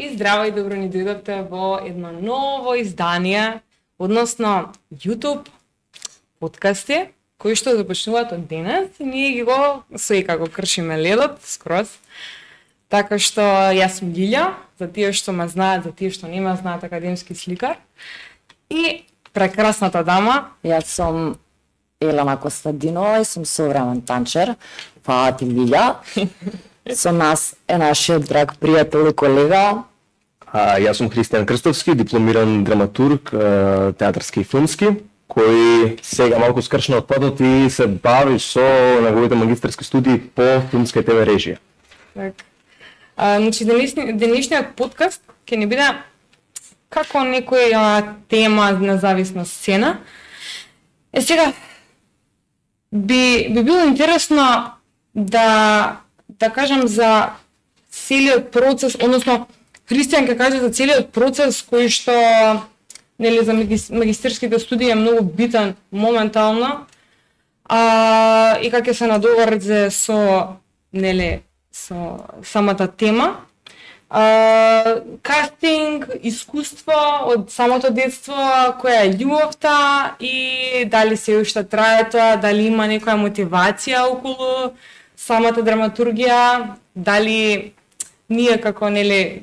И здраво и добро ни дојдовте во едно ново издание, односно YouTube подкасти, кои што започнуваат од денес и ние ги го како кршиме ледот скроз. Така што јас сум Лилја, за тие што ме знаат, за тие што не ме знаат, академски сликар. И прекрасната дама, јас сум Елена Костадинова и сум современ танчер. Фала ти, Лилја. Со нас е нашиот драг пријател и колега. Јас сум Христијан Крстовски, дипломиран драматург, театарски и филмски, кој сега малку скршна од патот и се бави со неговите магистерски студии по филмска и ТВ режија. Так. Значи, денешниот подкаст ќе ни биде како некоја тема независна сцена. Сега, би било интересно да кажам за целиот процес, односно Христијан ќе каже за целиот процес кој што нели за магистерските студии е многу битен моментално. И како ќе се надоврзе со самата тема. Кастинг, искуство од самото детство, која е љубовта и дали се уште трае тоа, дали има некоја мотивација околу самата драматургија, дали ние како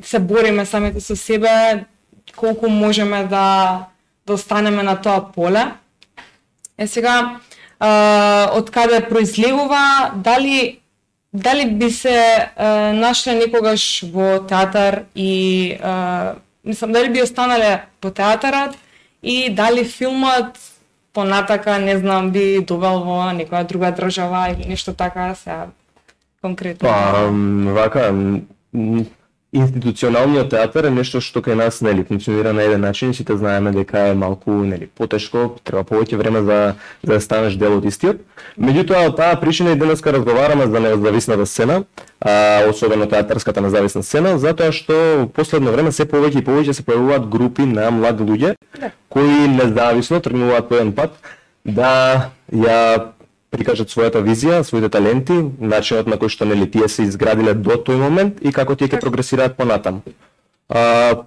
се бориме самите со себе, колку можеме да останеме на тоа поле. Сега, од каде произлегува, дали би се нашле некогаш во театар и дали би останале во театарот и дали филмот понатака, не знам, би довел во некоја друга држава или нешто така, сега конкретно. Вака, институционалниот театар е нешто што кај нас функционира на еден начин, сите знаеме дека е малку потешко, треба повеќе време за да станеш дел од истиот. Меѓутоа, таа причина и денеска разговараме за независната сцена, особено театарската независна сцена, затоа што последно време се повеќе и повеќе се појавуваат групи на млади луѓе кои независно тргнуваат по еден пат да ја прикажат својата визија, своите таленти, начинот на кој што тие се изградиле до тој момент и како тие ќе прогресираат понатаму.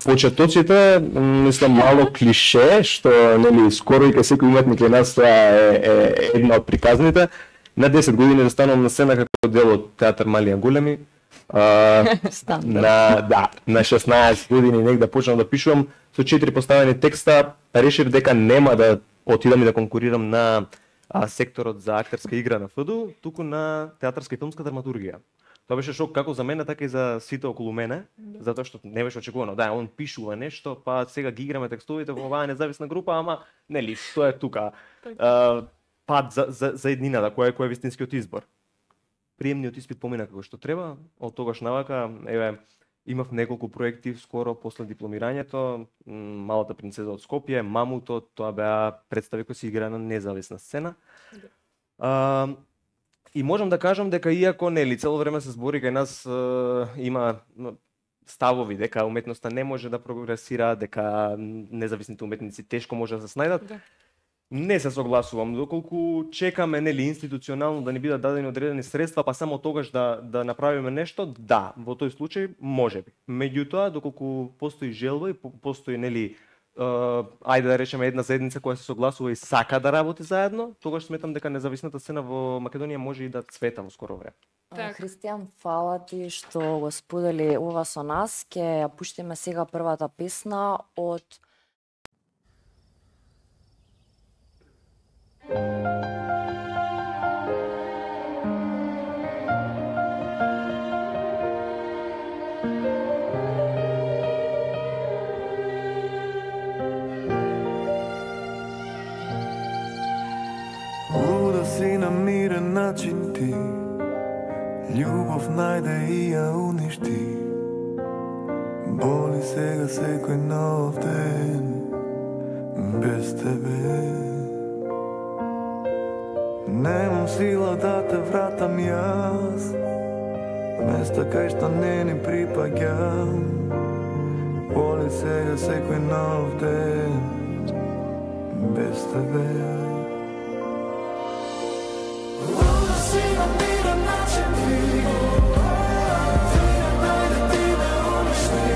Почетоците, мислам, мало клише, што скоро и кај секој уметник кај нас тоа е една од приказните. На 10 години да станувам на сцена како дел од театар Мали и големи. На 16 години негде почнав да пишувам со 4 поставени текста, решив дека нема да отидам и да конкурирам на секторот за актерска игра на ФДУ, туку на театарска и филмска драматургија. Тоа беше шок како за мене, така и за сите околу мене, затоа што не беше очекувано. Да, он пишува нешто, па сега ги играме текстовите во оваа независна група, ама што е тука? Пат за еднината, кој е вистинскиот избор. Приемниот испит помина како што треба, од тогаш навака, имав неколку проекти скоро после дипломирањето, Малата принцеза од Скопје, Мамуто, тоа беа представи кои се игра на независна сцена. И можам да кажам дека иако цело време се збори кај нас има ставови дека уметноста не може да прогресира, дека независните уметници тешко може да се снајдат. Не се согласувам, доколку чекаме институционално да ни бидат дадени одредени средства, па само тогаш да направиме нешто, да, во тој случај можеби. Меѓутоа, доколку постои желба и постои ајде да речеме една заедница која се согласува и сака да работи заедно, тогаш сметам дека независната сцена во Македонија може и да цвета во скоро време. Христијан, фала ти што го сподели ова со нас. Ќе ја пуштиме сега првата песна од Луда си на мирен начин ти, љубов најде и ја уништи. Боли сега секој нов ден без тебе. Немам сила да те вратам јас, места кај што не ни припаѓам. Боли сега секој нов ден без тебе. Луда си на мирен начин ти, ти најде ти да уништи.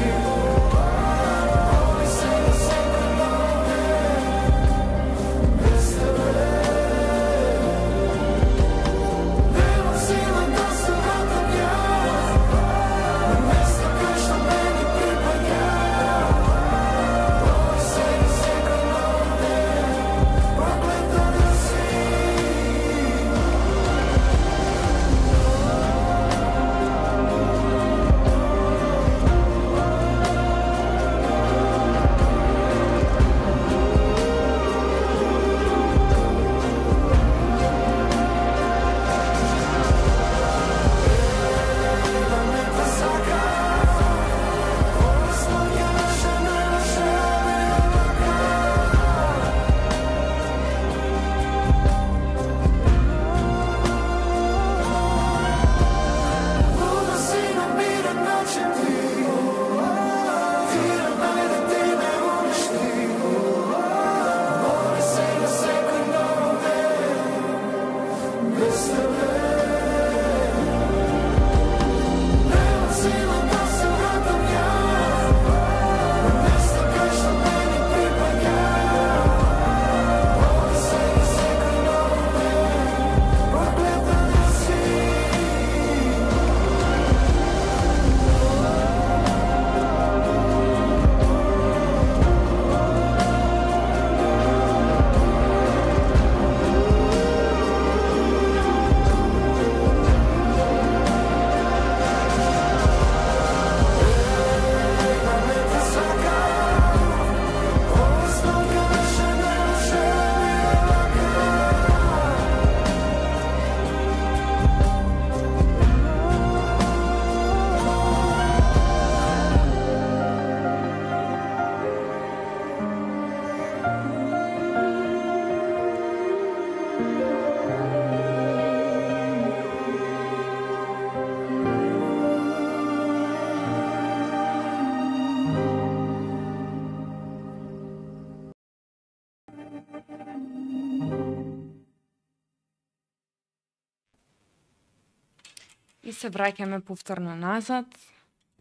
И се враќаме повторно назад.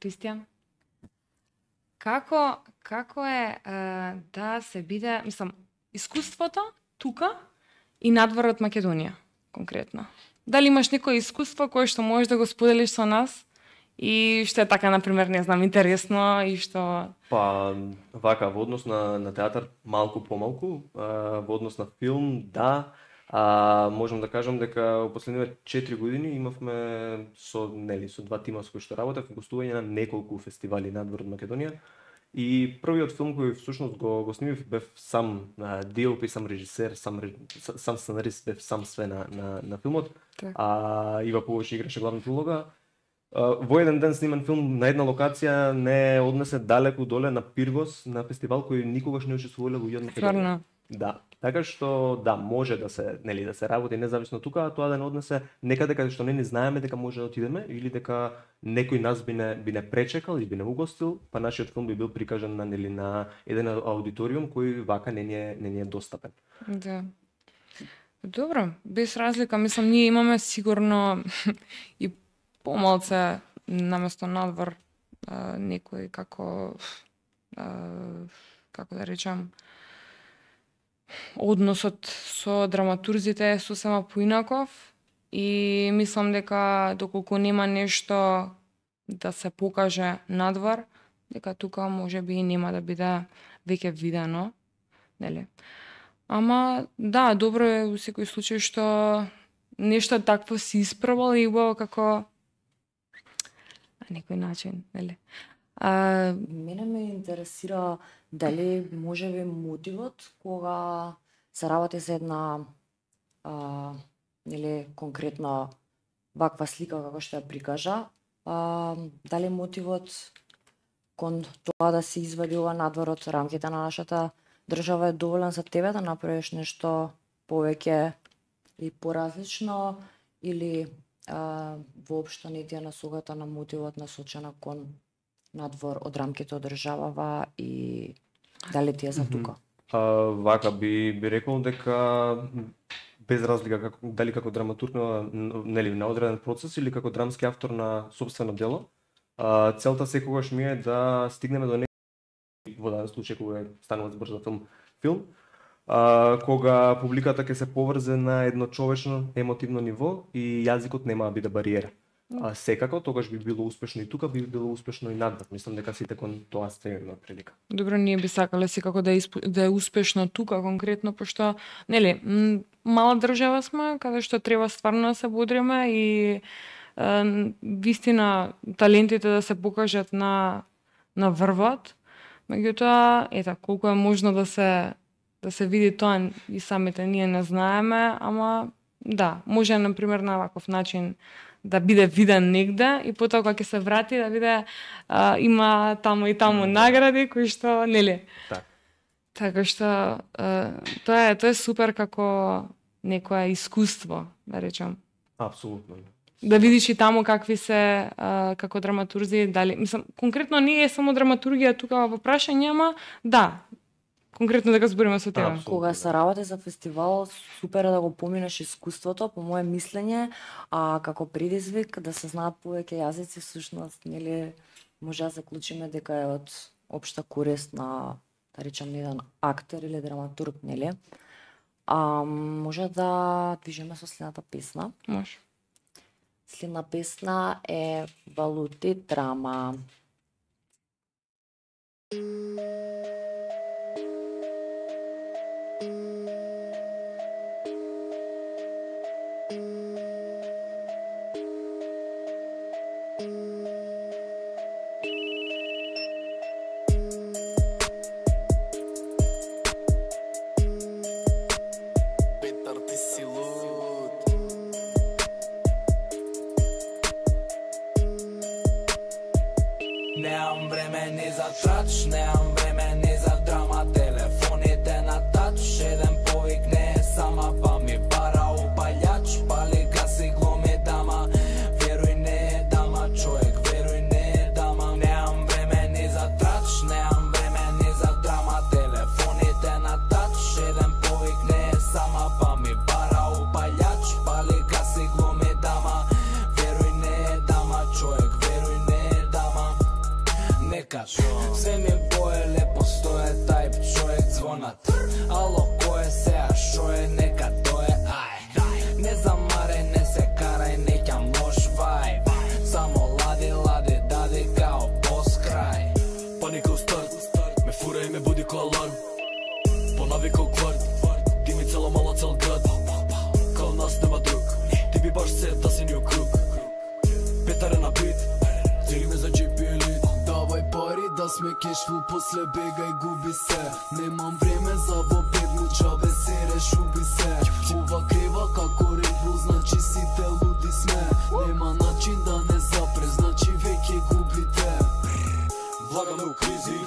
Кристијан, како е да се биде, мислам, искуството тука и надвор од Македонија, конкретно? Дали имаш некое искуство кое што можеш да го споделиш со нас и што е така, например, не знам, интересно и што... Па, вака, во однос на театар, малку помалку, во однос на филм, да, можам да кажам дека во последниве 4 години имавме со два тима со кои што работев гостување на неколку фестивали надвор од Македонија. И првиот филм кој всушност го снимив бев сам DOP, сам режисер, сам сценарист, бев сам све на филмот. Ива Пулович играше главната улога. Во еден ден сниман филм на една локација не однесе далеку доле на Пиргос, на фестивал кој никогаш не учествувале луѓе од Македонија. Да, така што да, може да се работи независно тука, а тоа да не однесе некаде каде што не ни знаеме дека може да отидеме или дека некој нас би не пречекал и би не угостил, па нашиот филм би бил прикажан на еден аудиториум кој вака не ни е достапен. Да. Добро, без разлика, мислам, ние имаме сигурно и помалце наместо надвор некој како да речам, односот со драматурзите е сосема поинаков и мислам дека доколку нема нешто да се покаже надвор, дека тука можеби нема да биде веќе видено, нели? Ама да, добро е во секој случај што нешто такво си испробал и убаво како на некој начин, нели? Мене ме интересира дали можеби мотивот кога се работи за една нели конкретна ваква слика како што ја прикажа, дали мотивот кон тоа да се извади ова надвор од рамките на нашата држава е доволен за тебе да направиш нешто повеќе и поразлично или воопшто не ти е насоката на мотивот насочена кон надвор од рамките од државава и дали ти е за тука? Вака би рекол дека без разлика дали како драматург на одреден процес или како драмски автор на сопствено дело, целта секогаш ми е да стигнеме до во даден случај кога станува збор за филм, кога публиката ќе се поврзе на едно човечно емотивно ниво и јазикот нема да биде бариера. Секако, тогаш би било успешно и тука, би било успешно и надвор. Мислам дека сите кон тоа стремиме прилика. Добро, ние би сакале секако да е успешно тука конкретно, пошто, нели, мала држава сме, каде што треба стварно да се бодриме и вистина талентите да се покажат на врвот. Меѓутоа, ета, колку е можно да се види тоа и самите ние не знаеме, ама да, може например на ваков начин да биде виден негде и потоа кога ќе се врати да биде има таму и таму награди кои што нели. Така што тоа е супер како некое искуство, да речам. Апсолутно. Да видиш и таму какви се како драматурзи, дали мислам конкретно не е само драматургија тука во прашање, ама да. Конкретно дека збориме со тебе. Кога се работи за фестивал, супер е да го поминеш искуството, по мое мислење, како предизвик да се знаат повеќе јазици, всушност, нели, може да заклучиме дека е од општа корист на, да речам, еден актер или драматург, нели? Може да движиме со следната песна. Може. Следна песна е Валути драма. Nemam време ни за трач, немам време ни за драма. Телефоните на тач, еден повик не е сама, па ми пара после бегај губи се. Немам време за бобедну джабе сереш уби се. Ова крева како Red Bull, значи сите луди сме. Нема начин да не запре, значи веќе губите. Влагаме у кризи,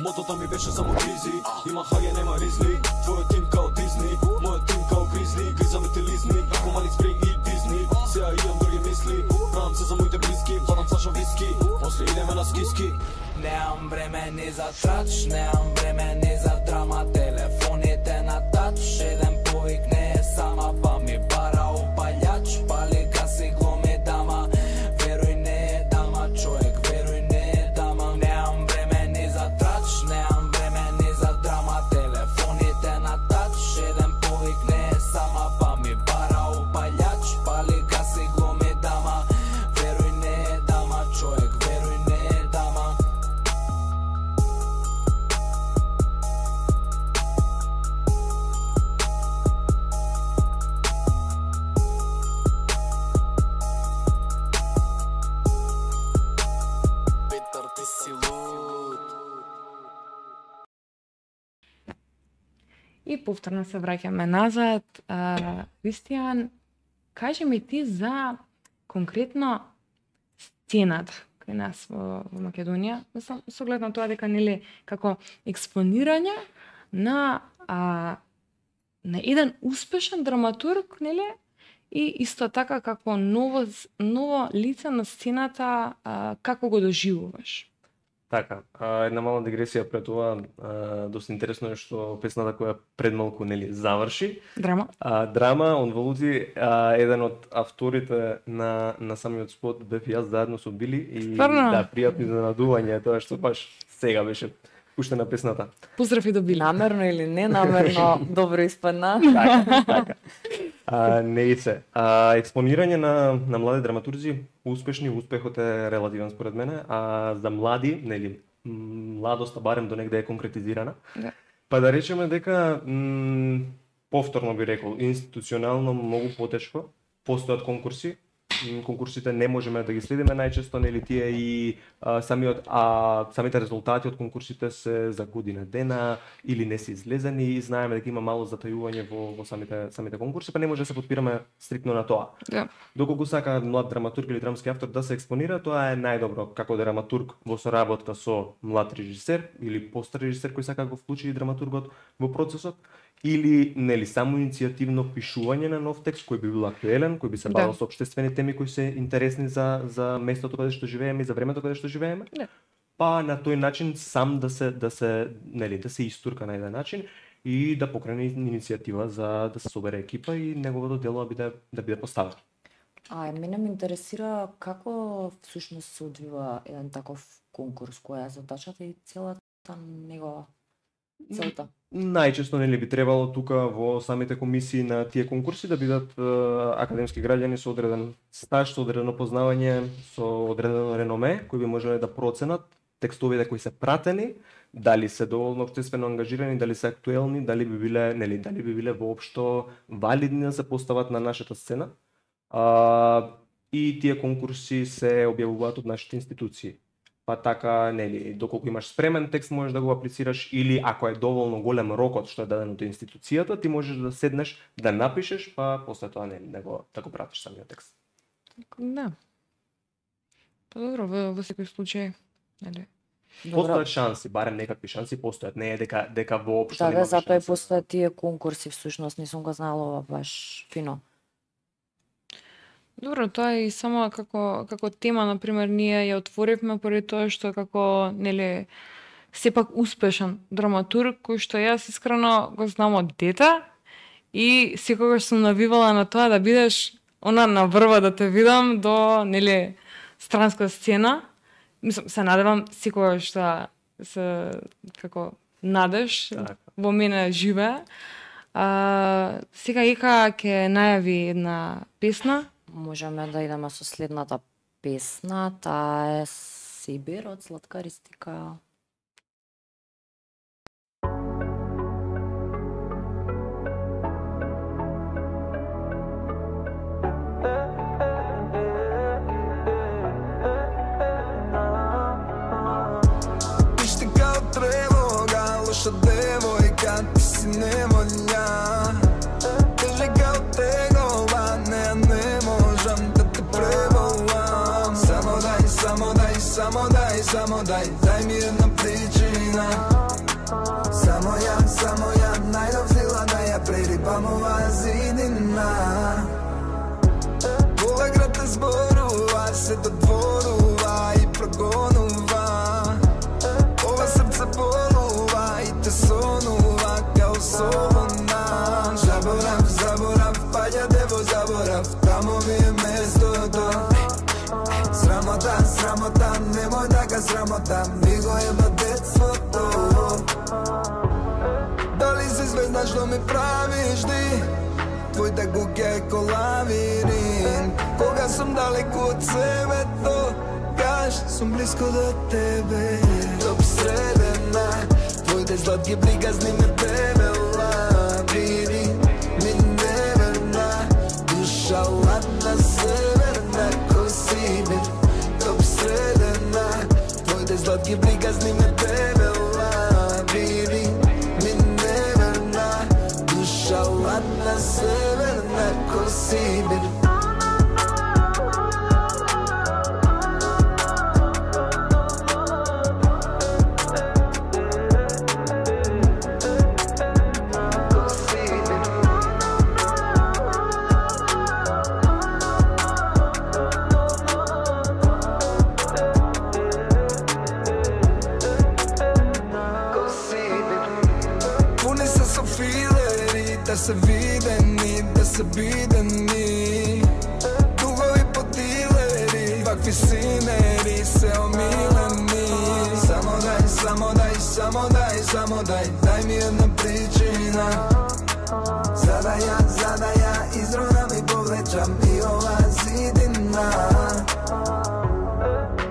мотото ми беше само кризи. Има хаје, нема ризли, твојот тим као Дизни, мојот тим као Гризли. Гризаме те лизни, како Мали Спринг и Дизни. Сега имам други мисли, правам се за моите близки. Владам флаша виски, после идеме на скиски. Немам време ни за трач, немам време ни за драма. Телефоните на тач, еден повик не е сама. Па ми бара опалјач, пали гаси глуми дама. Веруј не е дама, човек, веруј не е дама. Немам време ни за трач, немам време ни за драма. Телефоните на тач, еден повик не е сама. Па ми бара опалјач, пали гаси глуми дама. Веруј не е дама, човек, веруј не е дама. Петар, ти си луд. И повторно се враќаме назад. Кристијан, кажи ми ти за конкретно сцената кај нас во Македонија, со оглед на тоа дека нели како експонирање на еден успешен драматург, нели? И исто така како ново лице на сцената, како го доживуваш? Така, една мала дигресија пред ова, доста интересно е што песната која пред малку нели заврши. Драма? Драма, он Валути, еден од авторите на самиот спот бев јас заедно со Били и Стварно? да, пријатно изненадување тоа што баш сега беше пуштена песната. Поздрав и до Били. Намерно или ненамерно добро испадна. Така. Не и се. Експонирање на млади драматурзи, успешни, успехот е релативен според мене, а за млади, нели, младоста барем до негде е конкретизирана. Да. Па да речеме дека повторно би рекол, институционално многу потешко, постојат конкурси. Конкурсите не можеме да ги следиме најчесто, нели тие и самите резултати од конкурсите се за година дена или не се излезени и знаеме дека има мало затајување во самите конкурси, па не може да се подпираме стриктно на тоа. Да. Доколку сака млад драматург или драмски автор да се експонира, тоа е најдобро како драматург во соработка со млад режисер или постар режисер кој сака да го вклучи драматургот во процесот, или нели само иницијативно пишување на нов текст кој би бил актуелен, кој би се бавил со општествени теми кои се интересни за местото каде што живееме и за времето каде што живееме. Да. Па на тој начин сам да се истурка на еден начин и да покрене иницијатива за да се собере екипа и неговото дело да биде поставено. Мене ме интересира како всушност се одвива еден таков конкурс, која е задачата и целата негова целта. Најчесто нели би требало тука во самите комисии на тие конкурси да бидат академски граѓани со одреден стаж, со одредено познавање, со одредено реноме, кои би можеле да проценат текстовите кои се пратени, дали се доволно општествено ангажирани, дали се актуелни, дали би биле воопшто валидни да се постават на нашата сцена. И тие конкурси се објавуваат од нашите институции. Па така, нели, доколку имаш спремен текст можеш да го аплицираш или ако е доволно голем рокот што е даден од институцијата, ти можеш да седнеш да напишеш, па после тоа нели да го пратиш самиот текст. Да. Па добро, во секој случај, нели? Постојат шанси, барем некакви шанси постојат, не е дека воопшто Да, нема затоа и шанси. постојат тие конкурси, всушност не сум го знала ова баш фино. Добро, тоа е и само како тема, например, ние ја отворивме поради тоа што како, нели, сепак успешен драматург, кој што јас искрено го знам од дете и секогаш сум навивала на тоа да бидеш она на врва да те видам до, нели, странска сцена. Мислам, се надевам секогаш да се како надеж Така. во мене живее. Сега Ика ќе најави една песна. Можеме да идеме со следната песна, таа е Сибир од Слаткаристика. Иште као трен дај ми една причина. Само ја, најдов сила да ја прерипам оваа зидина. Ова град те зборува, се додворува и прогонува. Ова срце болува и те сонува као солуна. Заборав, паѓате во заборав, тамо ми е местото. Срамота, немој така срамота, ми го еба детството. Дали си звезда што ми правиш ти? Твојта куќа е ко лавирин. Кога сум далеку од себето, каш сум близко до тебе. Топ средена, твоите сладки приказни ме превела. Види, ми неверна, душа ладна, северна, ко Сибир. Топ средена, твоите сладки приказни ме превела. Види, ми неверна, душа ладна, северна, ко Сибир. Да се бидени, дугови по дилери, вакви синери се омилени. Само дај ми една причина. За да ја изронам и повлечам и ова зидина.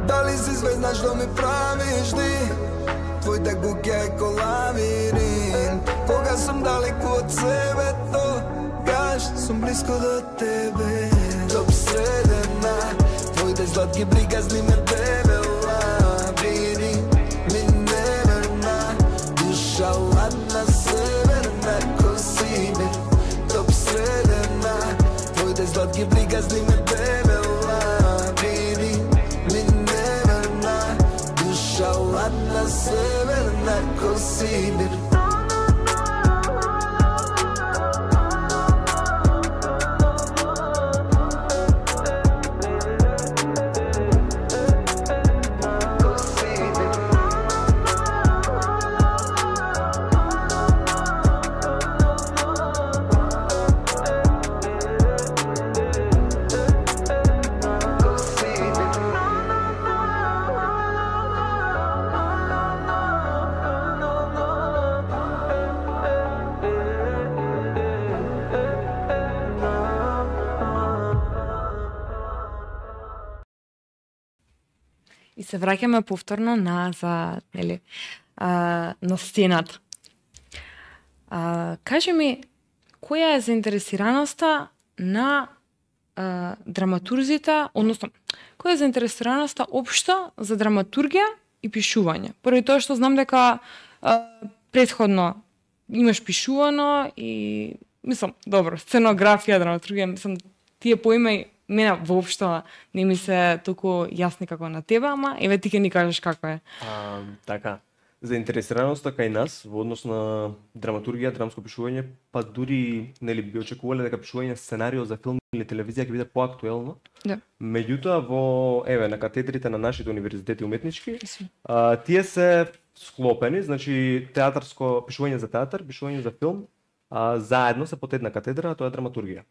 Дали си звезда што ми правиш ти? Твојта куќа е ко лавирин. Кога сум далеку од себето, каш сум близко до тебе. Топ средена, твоите сладки приказни ме превела. Види, ми неверна, душа ладна, северна, ко Сибир. Топ средена, твоите сладки приказни ме превела. Види, ми неверна, душа ладна, северна, ко Сибир. И се враќаме повторно на сцената. Кажи ми, која е заинтересираноста на драматурзите, односно, која е заинтересираноста општо за драматургија и пишување? Поради тоа што знам дека претходно имаш пишувано и, мислам, добро, сценографија, драматургија, мислам, тие поима мене воопшто не ми се толку јасни како на тебе, ама еве ти ќе ни кажеш како е. Така. Заинтересираноста кај нас во однос на драматургија, драмско пишување, па дури нели би очекувале дека пишување сценарио за филм или телевизија ќе биде поактуелно. Да. Меѓутоа во на катедрите на нашите универзитети уметнички, тие се склопени, значи театарско пишување за театар, пишување за филм, заедно се под една катедра, а тоа е драматургија.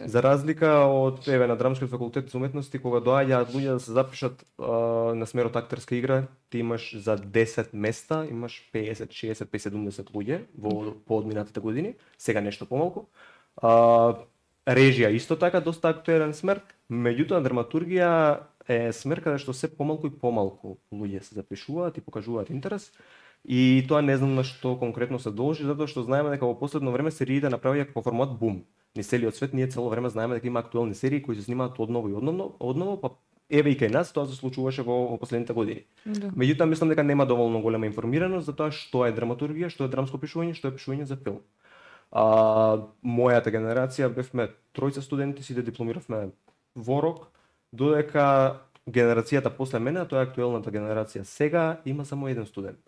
За разлика од на Драмскиот факултет за уметности, кога доаѓаат луѓе да се запишат на смерот актерска игра, ти имаш за 10 места, имаш 50, 60, 70 луѓе во поодминатите години, сега нешто помалку. Режија исто така доста актуелен смер, меѓутоа драматургија е смер каде што се помалку и помалку луѓе се запишуваат и покажуваат интерес. И тоа не знам на што конкретно се должи, затоа што знаеме дека во последно време сериите направија како формат бум. Низ целиот свет ние цело време знаеме дека има актуелни серии кои се снимаат одново и одново, па еве и кај нас тоа се случуваше во последните години. Да. Меѓутоа мислам дека нема доволно голема информираност за тоа што е драматургија, што е драмско пишување, што е пишување за филм. Мојата генерација бевме тројца студенти, сите дипломиравме во рок, додека генерацијата после мене, а тоа е актуелната генерација сега, има само еден студент.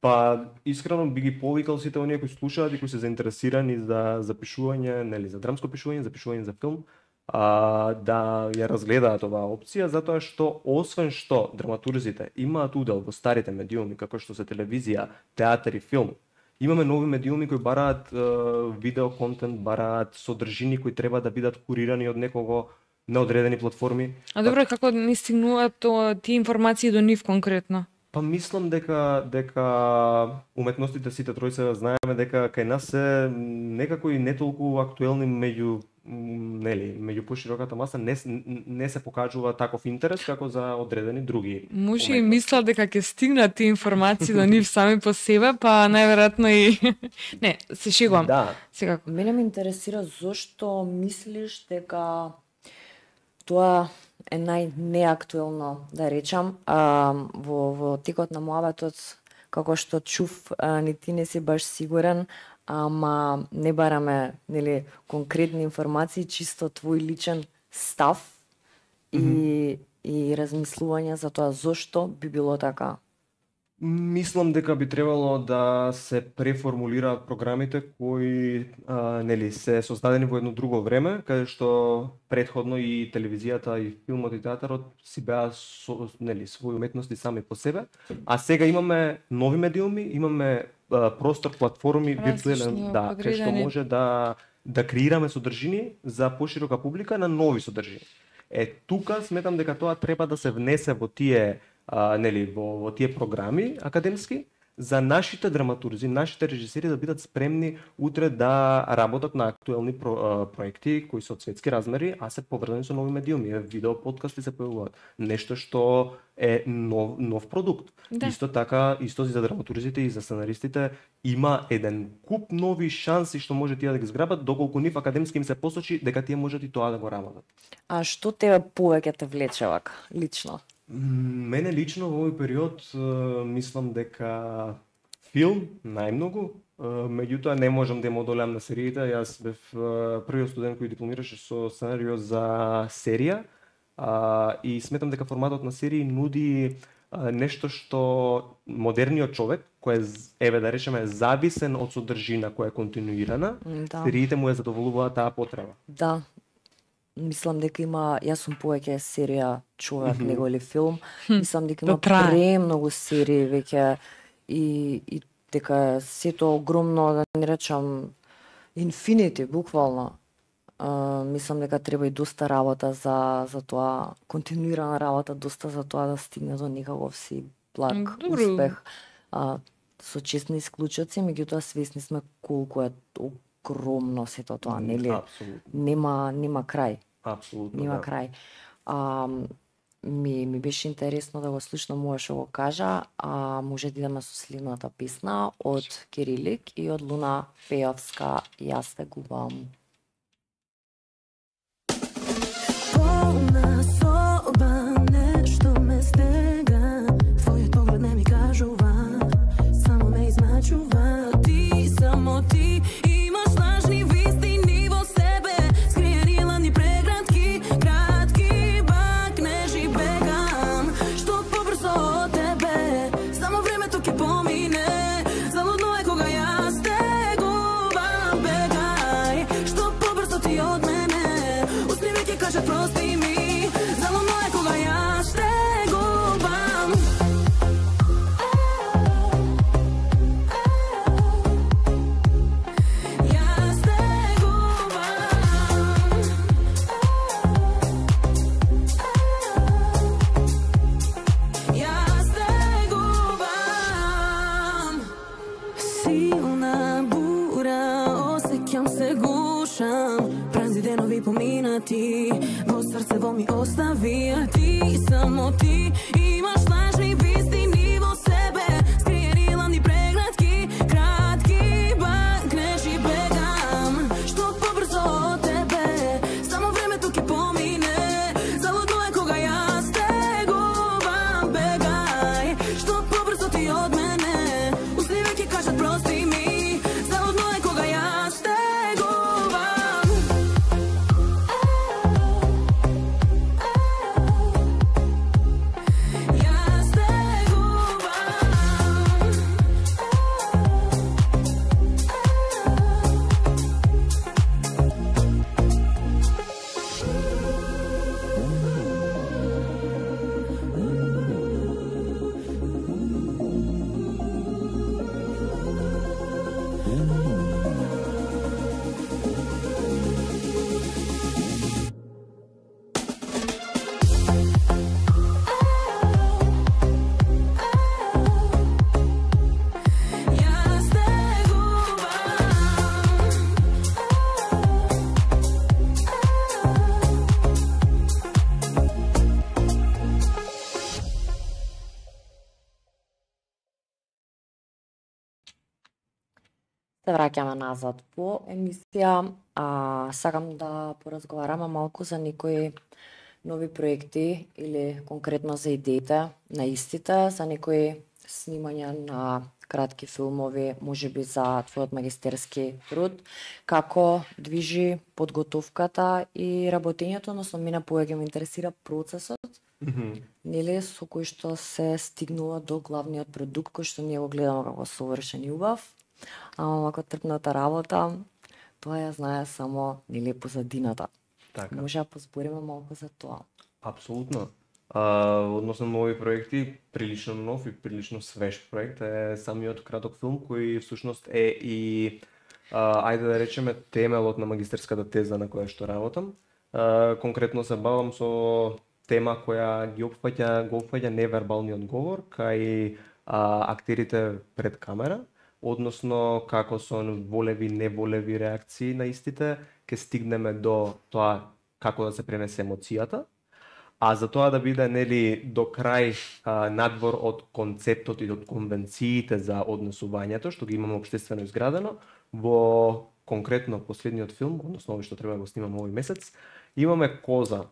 Па искрено би ги повикал сите оние кои слушаат и кои се заинтересирани за пишување, нели, за драмско пишување, за пишување за филм, да ја разгледаат оваа опција, затоа што освен што драматурзите имаат удел во старите медиуми како што се телевизија, театар и филм, имаме нови медиуми кои бараат видео контент, бараат содржини кои треба да бидат курирани од некого на одредени платформи. А добро, како ни стигнуваат тие информации до нив конкретно? Па мислам дека уметностите сите тројца знаеме дека кај нас се некако и не толку актуелни меѓу пошироката маса не се покажува таков интерес како за одредени други. Може и мислел дека ќе стигнат тие информации до нив сами по себе, па најверојатно и не, се шегувам. Да. Секако. Мене ме интересира зошто мислиш дека тоа е најнеактуелно, да речам, во текот на муабетот, како што чув, ни ти не си баш сигурен, ама не бараме, нели, конкретни информации, чисто твој личен став и размислување за тоа зошто би било така. Мислам дека би требало да се преформулираат програмите кои нели се создадени во едно друго време, каде што претходно и телевизијата и филмот и театарот си беа нели своји уметности сами по себе, а сега имаме нови медиуми, имаме простор, платформи, виртуелен, да, кај што може да креираме содржини за поширока публика на нови содржини. Тука сметам дека тоа треба да се внесе во тие нели во тие програми академски за нашите драматурзи, нашите режисери да бидат спремни утре да работат на актуелни проекти кои се од светски размери, а се поврзани со нови медиуми, видео подкасти се појавуваат. Нешто што е нов продукт. Да. Исто така, исто за драматурзите и за сценаристите има еден куп нови шанси што може тие да ги зграбат, доколку нив академски им се посочи дека тие можат и тоа да го работат. А што тебе повеќе те влече вака, лично? Мене лично во овој период мислам дека филм најмногу, меѓутоа не можам да им одолеам на сериите. Јас бев првиот студент кој дипломираше со сценарио за серија и сметам дека форматот на серии нуди нешто што модерниот човек, кој е, да речеме, зависен од содржина која е континуирана, да. Сериите му ја задоволуваат таа потреба. Да. Мислам дека јас сум повеќе серија човек него или филм. Мислам дека има премногу серии веќе и дека сето огромно, да не речам, инфинити, буквално. Мислам дека треба и доста работа за тоа, континуирана работа, доста за тоа да стигне до некаков си благ успех. Со честни исклучоци, меѓутоа свесни сме колку е огромно сето тоа, нели? Нема крај. Апсолутно. Нема крај. Ми беше интересно да го слушнам ова што го кажа, може да идеме со следната песна од Кирилик и од Луна Пејовска, Јас те губам. Полна соба, нешто ме стега, твојот поглед не ми кажува, само ме измачува, ти само ти имаш лажни вистини во себе, скриени ладни преградки, кратки бакнежи бегам, што побрзо од тебе, само времето ќе помине, залудно е кога јас те губам, бегај, што побрзо ти од мене, усни ме ќе кажат прости ми, залудно е кога јас те губам. Јас те губам. Јас те губам. Силна бура, осеќам се гушам, празни денови поминати, во срцево ми остави, а ти само ти имаш лажни вистини во себе, скриени ладни преградки, кратки бакнежи бегам, што побрзо од тебе, само времето ќе помине, залудно е кога јас те губам, бегај, што побрзо ти од мене, усни ме ќе кажат прости ми, залудно е кога јас те губам. Се враќаме назад по емисија, сакам да поразговараме малку за некои нови проекти или конкретно за идеите на истите, за некои снимања на кратки филмови, можеби за твојот магистерски труд, како движи подготовката и работењето, односно мене повеќе ме интересира процесот, нели, со кој што се стигнува до главниот продукт кој што ние го гледаме како совршен и убав, ама ако трпната работа, тоа ја знае само нели позадината. Така. Може да позбориме малку за тоа. Апсолутно. Односно нови проекти, прилично нов и прилично свеж проект е самиот краток филм кој всушност е и ајде да речеме темелот на магистерската теза на која што работам. Конкретно се бавам со тема која го опфаќа невербалниот говор кај актерите пред камера, односно како со волеви, неволеви реакции на истите ќе стигнеме до тоа како да се пренесе емоцијата. А за тоа да биде нели до крај надвор од концептот и од конвенциите за однесувањето што ги имаме општествено изградено, во конкретно последниот филм, односно овој што треба да го снимаме овој месец, имаме коза.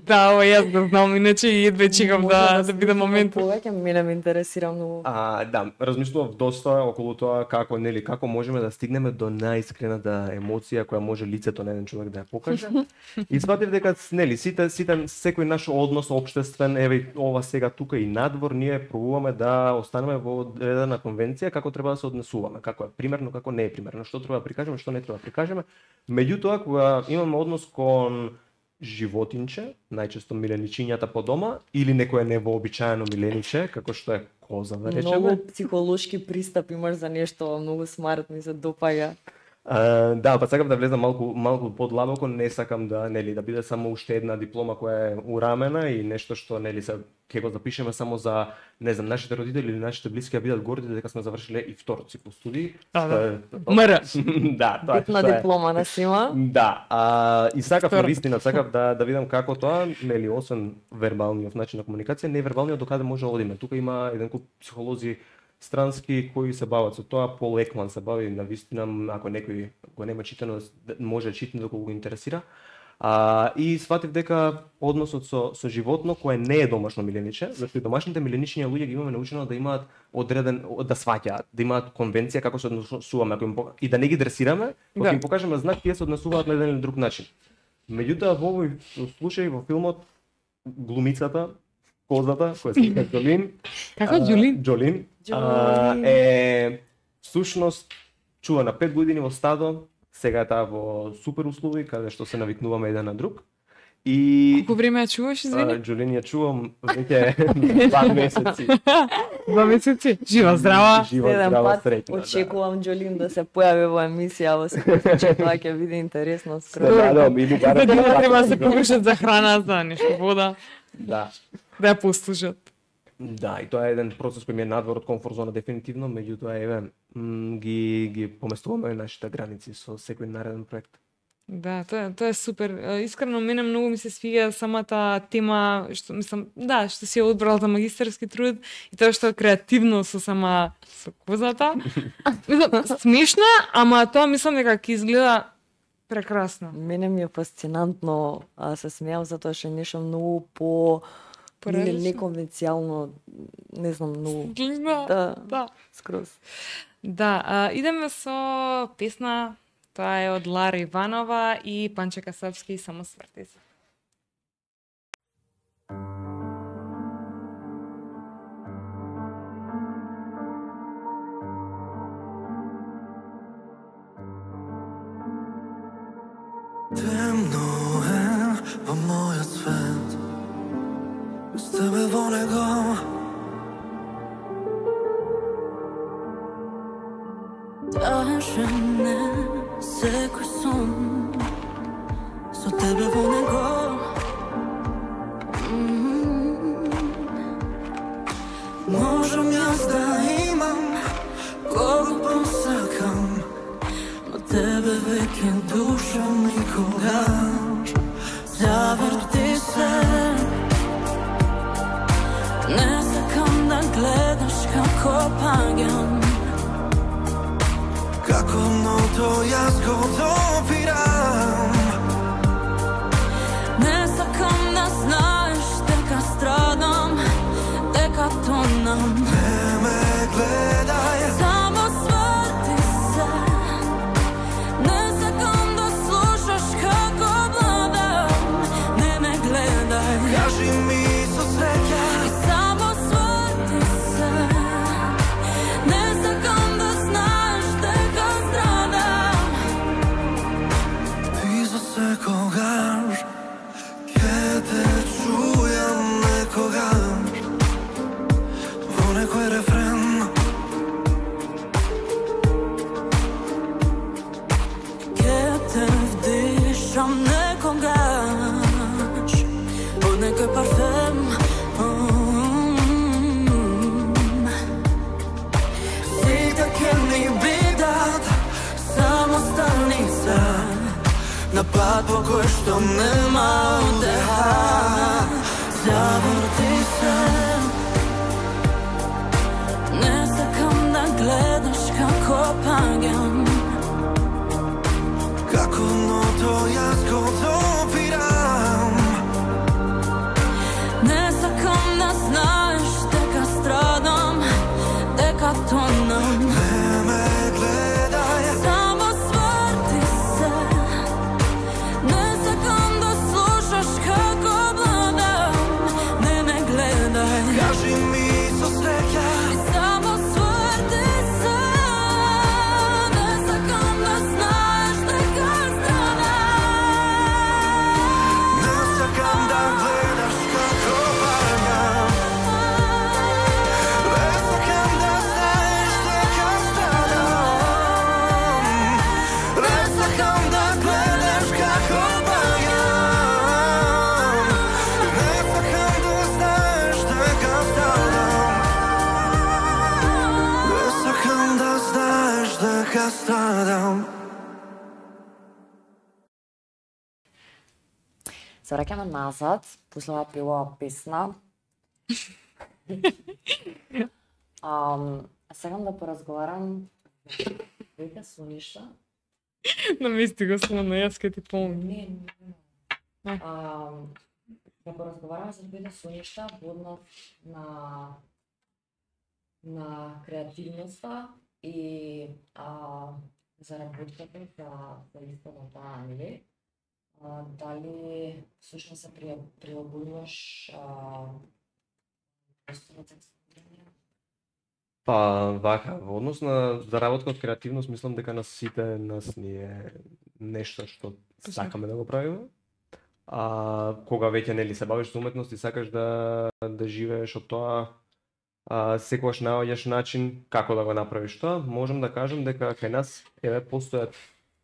Да, ова јас го знам, иначе и едве чекам да биде момент. Повеќе мене ме интересира многу. Да, размислував доста околу тоа како можеме да стигнеме до најискрената емоција која може лицето на еден човек да ја покаже. И сватив дека сите секој наш однос општествен, еве ова сега тука и надвор, ние пробуваме да останеме во одредена конвенција како треба да се однесуваме, како е примерно, како не е примерно, што треба да прикажеме, што не треба да прикажеме. Меѓутоа, кога имаме однос кон животинче, најчесто миленичињата по дома, или некое невообичаено милениче, како што е коза, да речеме. Многу психолошки пристап имаш за нешто, многу смарт, ми се допаѓа. Да, па сакам да влезам малку подлабоко, не сакам да да биде само уште една диплома која е урамена и нешто што ќе го запишеме само за, не знам, нашите родители или нашите блиски да бидат горди дека сме завршиле и втор цикл студии. Мр. Да, тоа е. Битна диплома на сима. Да, и сакав навистина, сакав да видам како тоа, освен вербалниот начин на комуникација, невербалниот докаде може да одиме. Тука има еден куп психолози странски кои се бават со тоа. Пол Екман се бави, навистина, ако некој го нема читано, може да читне доколку го интересира. И сватив дека односот со животно кое не е домашно милениче, зашто и домашните миленични луѓе ги имаме научено да имаат одреден, да сваќаат, да имаат конвенција како се однесуваме, и да не ги дресираме, кога им покажеме знак, тие се однесуваат на еден или друг начин. Меѓутоа во овој случај во филмот глумицата, козата, која се вика Џолин. Како Џолин? Џолин. Е всушност чува на 5 години во стадо, сега е таа во супер услови, каде што се навикнуваме еден на друг. И колку време ја чуваш, извини? Џолин ја чувам веќе 2 месеци. 2 месеци? Жива, здрава. Жива, здрава, среќна. Очекувам Џолин да се појави во емисија, во секој случај тоа ќе биде интересно скроз. Да, или барем треба да се погрижат за храна, за нешто вода. Да. Да ја послушат. Да, и тоа е еден процес кој ми е надвор од комфорт зона дефинитивно, меѓутоа еве ги поместуваме нашите граници со секој нареден проект. Да, тоа е супер. Искрено мене многу ми се свиѓа самата тема што мислам, да, што си ја одбрала за магистерски труд и тоа што е креативно со козата. Мислам, смешна, ама тоа мислам дека ќе изгледа прекрасно. Мене ми е фасцинантно, се смеам затоа што е нешто многу по неконвенцијално, не знам, многу. Да. Скроз. Да, идеме со песна, тоа е од Лара Иванова и Панче Касапски, Само сврти се. Темно е во мојот свет, без тебе во него. Тажен е секој сон, со тебе во него. Можам јас да имам кого посакам, но тебе веќе душа никогаш. Заврти се, не сакам да гледаш како паѓам. Како ното јас го допирам. Не сакам да знаеш дека страдам, дека тонам. Не ме гледај, Само сврти се. Не сакам да слушаш како бладам. Не ме гледај. кажи ми со среќа. И само сврти се. Не сакам да знаеш дека страдам. Ти за секогаш ќе те чујам некогаш во некој рефрен. Ќе те вдишам некогаш од некој парфем. Сите ќе ни бидат самостаница на пат по кој што нема утеха. Заврти се. Не сакам да гледаш како паѓам. Како ното јас го допирам. Не сакам да знаеш дека страдам, дека тонам. Не ме гледај, Само сврти се. Не сакам да слушаш како бладам. Не ме гледај. кажи ми со среќа. И само сврти се. Не сакам да знаеш дека страдам. Не сакам да гледаш како паѓам. Не сакам да знаеш дека страдам. Не сакам да гледаш како паѓам. Не сакам да знаеш дека страдам. Не сакам да знаеш дека страдам. Се враќаме назад, после оваа пилова песна. Сакам да поразговарам двете соништа. Намести го само на јас ке ти помни. Не. Да поразговарам за двете соништа во однос на креативноста и за работката за исто на таа, нели? Дали всушност се прилагодуваш просторот за експлорирање? Па, вака, во однос на заработка од креативност, мислам дека на сите нас ни е нешто што сакаме да го правиме. Кога веќе нели се бавиш со уметност и сакаш да живееш од тоа, секогаш наоѓаш начин како да го направиш тоа, можам да кажам дека кај нас постојат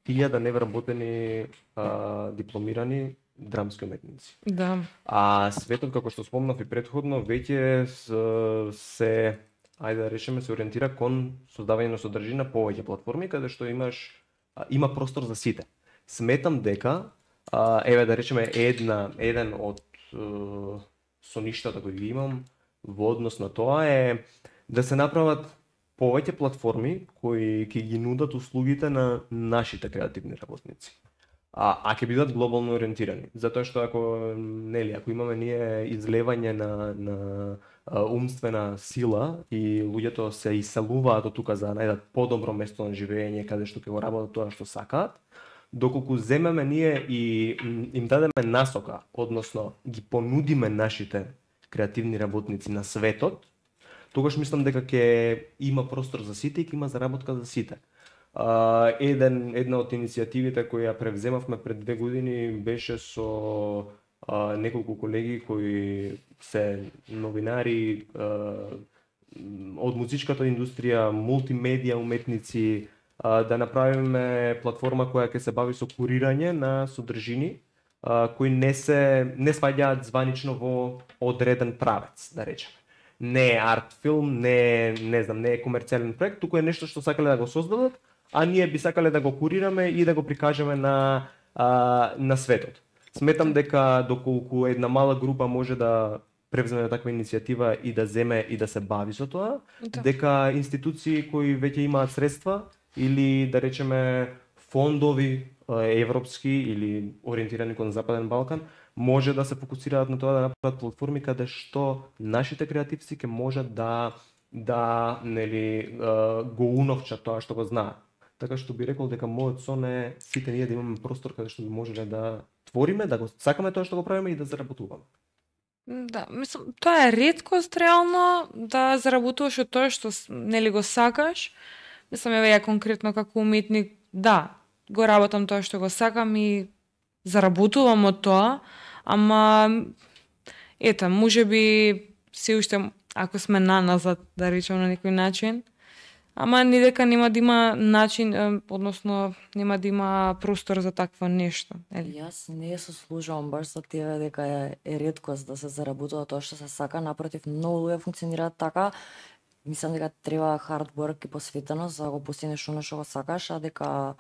1000 невработени дипломирани драмски уметници. Да. А светот, како што спомнав и претходно, веќе се ајде да речеме, се ориентира кон создавање на содржина повеќе платформи каде што има простор за сите. Сметам дека еве да речеме еден од соништата кои ги имам во однос на тоа е да се направат повеќе платформи кои ќе ги нудат услугите на нашите креативни работници. А ќе бидат глобално ориентирани, затоа што ако имаме ние излевање на умствена сила и луѓето се иселуваат од тука за да најдат подобро место на живење каде што ќе го работат тоа што сакаат, доколку земеме ние и им дадеме насока, односно ги понудиме нашите креативни работници на светот, тогаш мислам дека ќе има простор за сите и ќе има заработка за сите. Една од иницијативите кои ја превземавме пред 2 години беше со неколку колеги кои се новинари од музичката индустрија, мултимедија уметници, да направиме платформа која ќе се бави со курирање на содржини кои не сваѓаат званично во одреден правец, да речеме. Не е арт филм, не е комерцијален проект, туку е нешто што сакале да го создадат, а ние би сакале да го курираме и да го прикажеме на светот. Сметам дека доколку една мала група може да превземе таква иницијатива и да земе и да се бави со тоа, дека институции кои веќе имаат средства или да речеме фондови европски или ориентирани кон Западен Балкан може да се фокусираат на тоа да направат платформи каде што нашите креативци ќе можат да нели го уновчат тоа што го знаат. Така што би рекол дека мојот сон е сите ние да имаме простор каде што би можеле да твориме, да го сакаме тоа што го правиме и да заработуваме. Да, мислам, тоа е реткост реално да заработуваш од тоа што нели го сакаш. Мислам, еве ја конкретно како уметник, да, го работам тоа што го сакам и заработувам од тоа, ама ета, можеби се уште ако сме назад, да речем на некој начин, ама ни дека нема да има начин, односно нема да има простор за такво нешто. Јас не се служувам баш со тебе дека е реткост да се заработува тоа што се сака, напротив, многу луѓе функционираат така. Мислам дека треба hard work и посветеност за да го постигнеш оно што го сакаш, а дека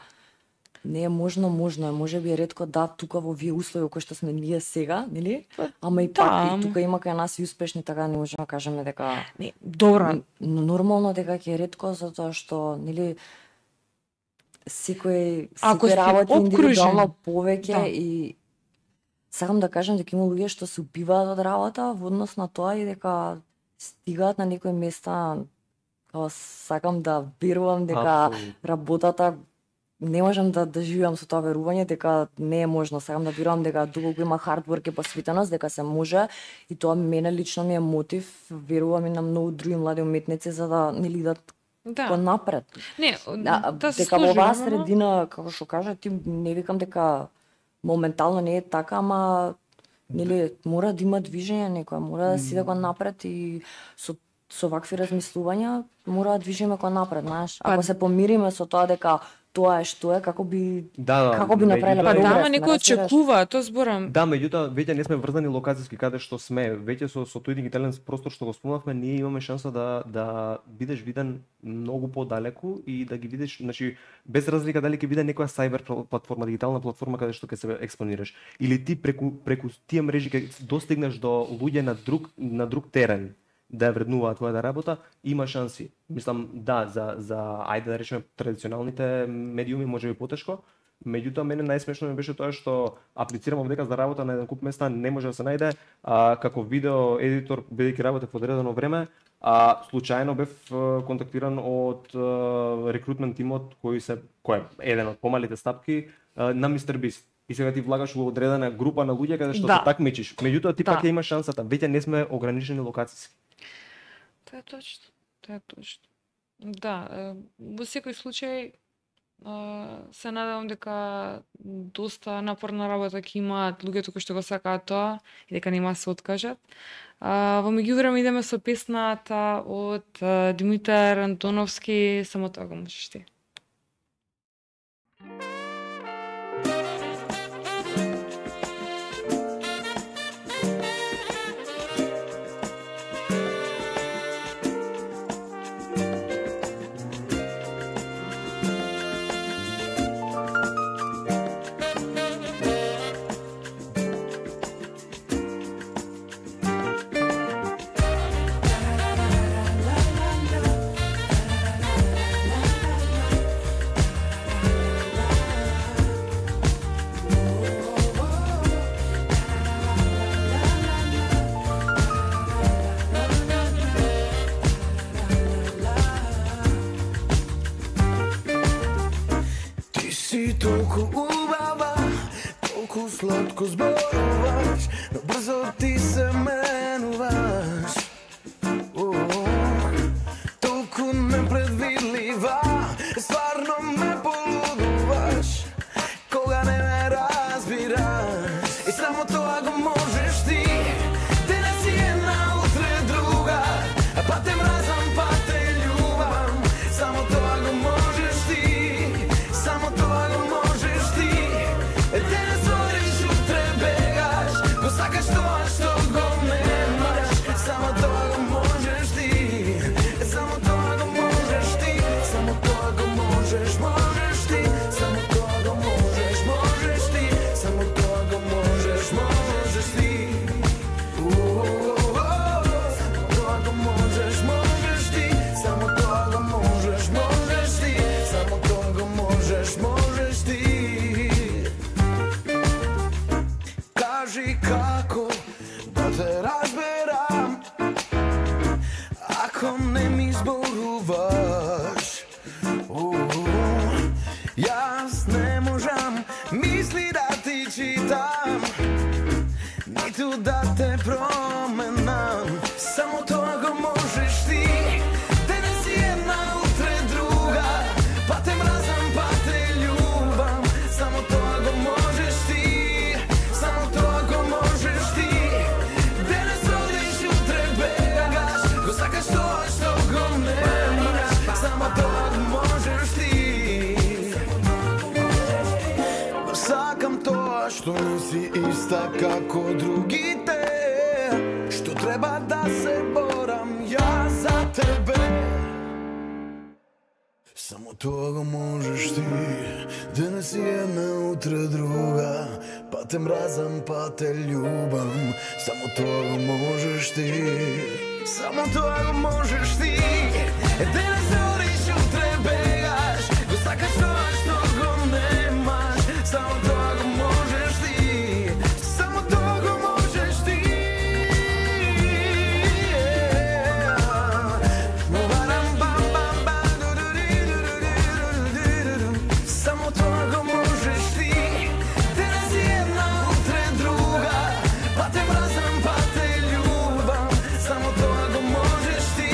не е можно е, можеби е ретко да тука во овие услови кои што сме ние сега, нели? Ама и пак и тука има кај нас и успешни, така не можеме да кажеме дека не, добро, нормално дека ќе е ретко затоа што нели секој работи индивидуално повеќе и сакам да кажам дека има луѓе што се убиваат од работа во однос на тоа и дека стигаат на некои места, сакам да верувам дека работата не можам да живеам со тоа верување дека не е можно. Сакам да верувам дека долго има hard work и посветеност, дека се може и тоа мене лично ми е мотив, верувам и на многу други млади уметници за да нели да по напред. Не, дека во оваа средина, како што кажа ти, не викам дека моментално не е така, ама нели мора да има движење некоја, мора да си да го напред и со вакви размислувања мора да движиме кон напред, знаеш. Ако се помириме со тоа дека тоа е што е, како би направиле прогрес. Ама некој очекува, тоа зборам. Да, меѓутоа веќе не сме врзани локацијски каде што сме. Веќе со тој дигитален простор што го спомнавме, ние имаме шанса да бидеш виден многу подалеку и да ги видиш, значи без разлика дали ќе биде некоја сайбер платформа, дигитална платформа каде што ќе се експонираш или ти преку тие мрежи ќе достигнеш до луѓе на друг терен да вреднуваат твојата работа, има шанси. Мислам, да, за ајде да речеме традиционалните медиуми може би потешко, меѓутоа мене најсмешно ми беше тоа што аплицирам овдека за работа на еден куп места, не може да се најде, како видео едитор, бидејќи работев од одредено време, случајно бев контактиран од рекрутмент тимот кој е еден од помалите стапки на Мистер Бист. И сега ти влагаш во одредена група на луѓе каде што се такмичиш. Меѓутоа ти пак ќе имаш шансата, веќе не сме ограничени локацијски. Тоа е точно. Да, во секој случај се надевам дека доста напорна работа ќе имаат луѓето кои што го сакаат тоа и дека нема да се откажат. Во меѓувреме идеме со песната од Димитар Антоновски, само тоа го можеш ти. Толку убава, толку сладко зборуваш, но брзо ти се менуваш. Толку непредвидлива, стварно ме полудуваш, кога не ме разбираш. И само тоа го можеш ти, денес си една, утре друга, па те мразам, па те љубам. Само тоа го можеш ти, само тоа го можеш ти. Денес одиш, утре бегаш, го сакаш тоа што го немаш. Само тоа го можеш ти, само тоа го можеш ти, само тоа го можеш ти, само тоа го можеш ти, само тоа го можеш ти. кажи како да те разберам, ако не ми зборуваш. Јас не можам мисли да ти читам, ниту да те променам. Само тоа го можеш ти. Денес си една, утре друга, па те мразам, па те љубам. Само тоа го можеш ти. Само тоа го можеш ти. Денес одиш, утре бегаш, го сакаш тоа што го немаш. Само тоа го можеш ти. Сакам тоа што не си иста како другите, што треба да се борам јас за тебе. Само тоа го можеш ти. Денес си една, утре друга, па те мразам, па те љубам. Само тоа го можеш ти. Само тоа го можеш ти. Денес одиш, утре бегаш, го сакаш тоа што го немаш. Само тоа го можеш ти. Само тоа го можеш ти. Само тоа го можеш ти. Денес си една, утре друга, па те мразам, па те љубам. Само тоа го можеш ти.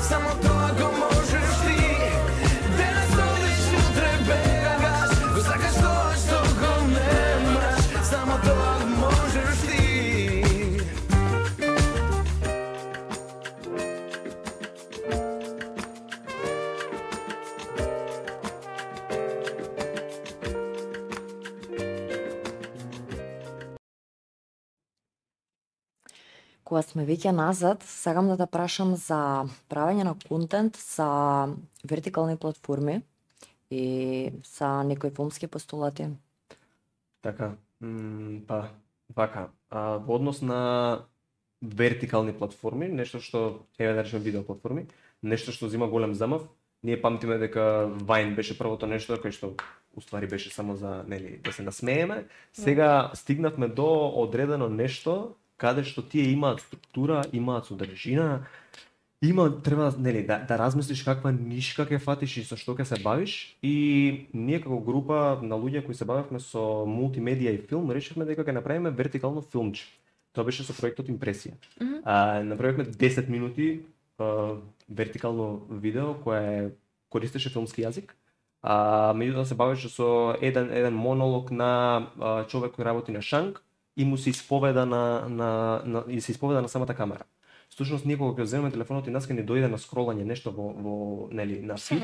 Само тоа го можеш ти. Денес одиш, утре бегаш, го сакаш тоа што го немаш. Само тоа го можеш ти. Кога сме веќе назад, сакам да те прашам за правење на контент за вертикални платформи и за некои филмски постулати. Така, па, вака, во однос на вертикални платформи, нешто што, еве да речеме видео платформи, нешто што зима голем замав, ние памтиме дека Vine беше првото нешто кај што уствари беше само за, нели, да се насмееме. Сега стигнавме до одредено нешто каде што тие имаат структура, имаат содржина, треба, нели, да размислиш каква нишка ќе фатиш и со што ќе се бавиш, и ние како група на луѓе кои се бавевме со мултимедија и филм, решивме дека ќе направиме вертикално филмче. Тоа беше со проектот Импресија. Направивме 10 минути вертикално видео кое користеше филмски јазик, меѓутоа се бавеше со еден монолог на човек кој работи на шанк и му се исповеда на самата камера. Всушност ние кога ќе земеме телефонот и нас ќе ни дојде на скролање нешто во нели на фид,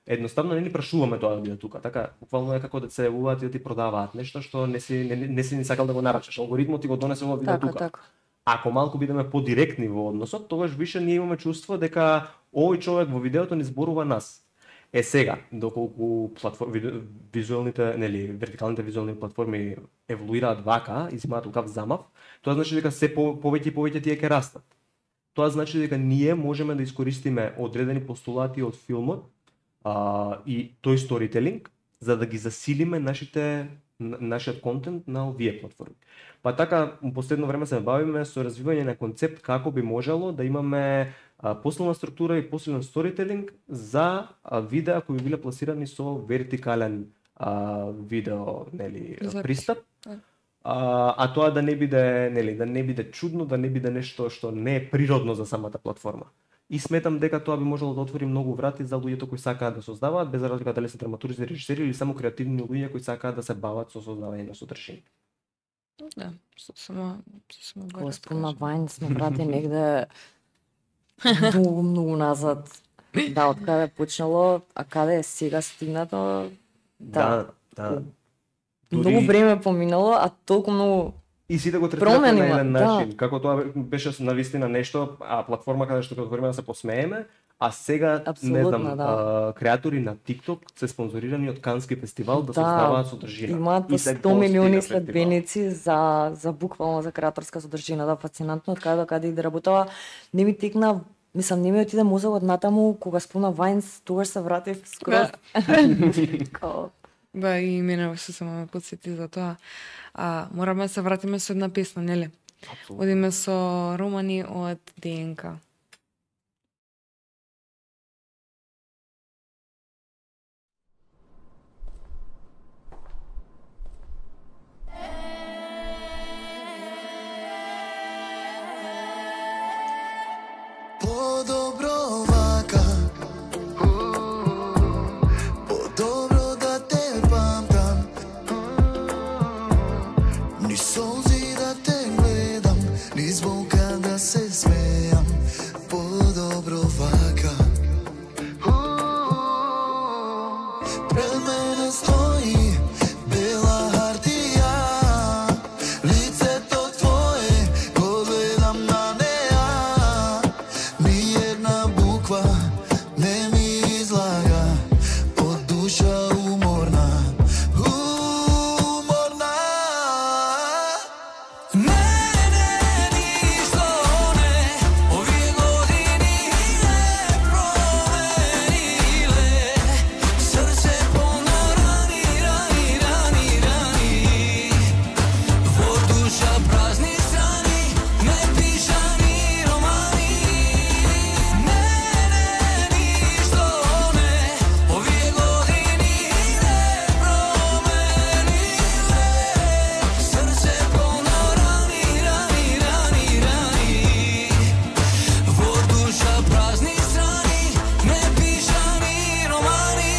едноставно не ни прашуваме тоа да биде тука. Така буквално е како да се јавуваат и да ти продаваат нешто што не си ни сакал да го нарачаш. Алгоритмот ти го донесе во видео тука. Така. Ако малку бидеме подиректни во односот, тогаш више ние имаме чувство дека овој човек во видеото ни зборува нас. Сега, доколку визуелните, нели, вертикалните визуелни платформи еволуираат вака и земаат такав замав, тоа значи дека се повеќе и повеќе тие ќе растат. Тоа значи дека ние можеме да искористиме одредени постулати од филмот и тој сторителинг за да ги засилиме нашиот контент на овие платформи. Па така, во последно време се бавиме со развивање на концепт како би можело да имаме посилна структура и посилен сторителинг за видеа кои би биле пласирани со вертикален видео, нели, пристап. Тоа да не биде, нели, да не биде чудно, да не биде нешто што не е природно за самата платформа. И сметам дека тоа би можело да отвори многу врати за луѓето кои сакаат да создаваат, без разлика дали се драматурзи, режисери или само креативни луѓе кои сакаат да се бават со создавање на содржина. Да, само Кога спомна Vine сме брати негде многу назад. Да, од каде е почнало, а каде е сега стигнато. Да. Многу време поминало, а толку многу и сите го третирате на еден начин. Да. Како тоа беше навистина нешто, платформа каде што ќе отвориме да се посмееме, а сега, не знам, креатори на TikTok се спонзорирани од Кански фестивал да создаваат содржина. Имаат по 100 милиони следбеници за буквално за креаторска содржина. Да, фасцинантно од каде до каде и да работава. Не ми текна, мислам, не ми отиде мозокот натаму, кога спомна Vine, тогаш се вратив скроз. Да, и мене се само ме подсети за тоа. Мораме да се вратиме со една песна, нели? Апсолутно. Одиме со Романи од ДНК. Подобро вака, подобро да те памтам, ни солзи да те гледам, ни звука да се смејам. Подобро вака, пред мене стои бела хартија, лицето твое го гледам на неа, ни една буква не ми излага, од душа уморна, уморна. Мене ништо не, овие години не промениле, срце полно рани, рани, рани, рани, во душа празни страни, не пишани романи. Мене ништо не, овие години не промениле, срце полно рани, рани, рани, рани, во душа празни страни, не пишани романи.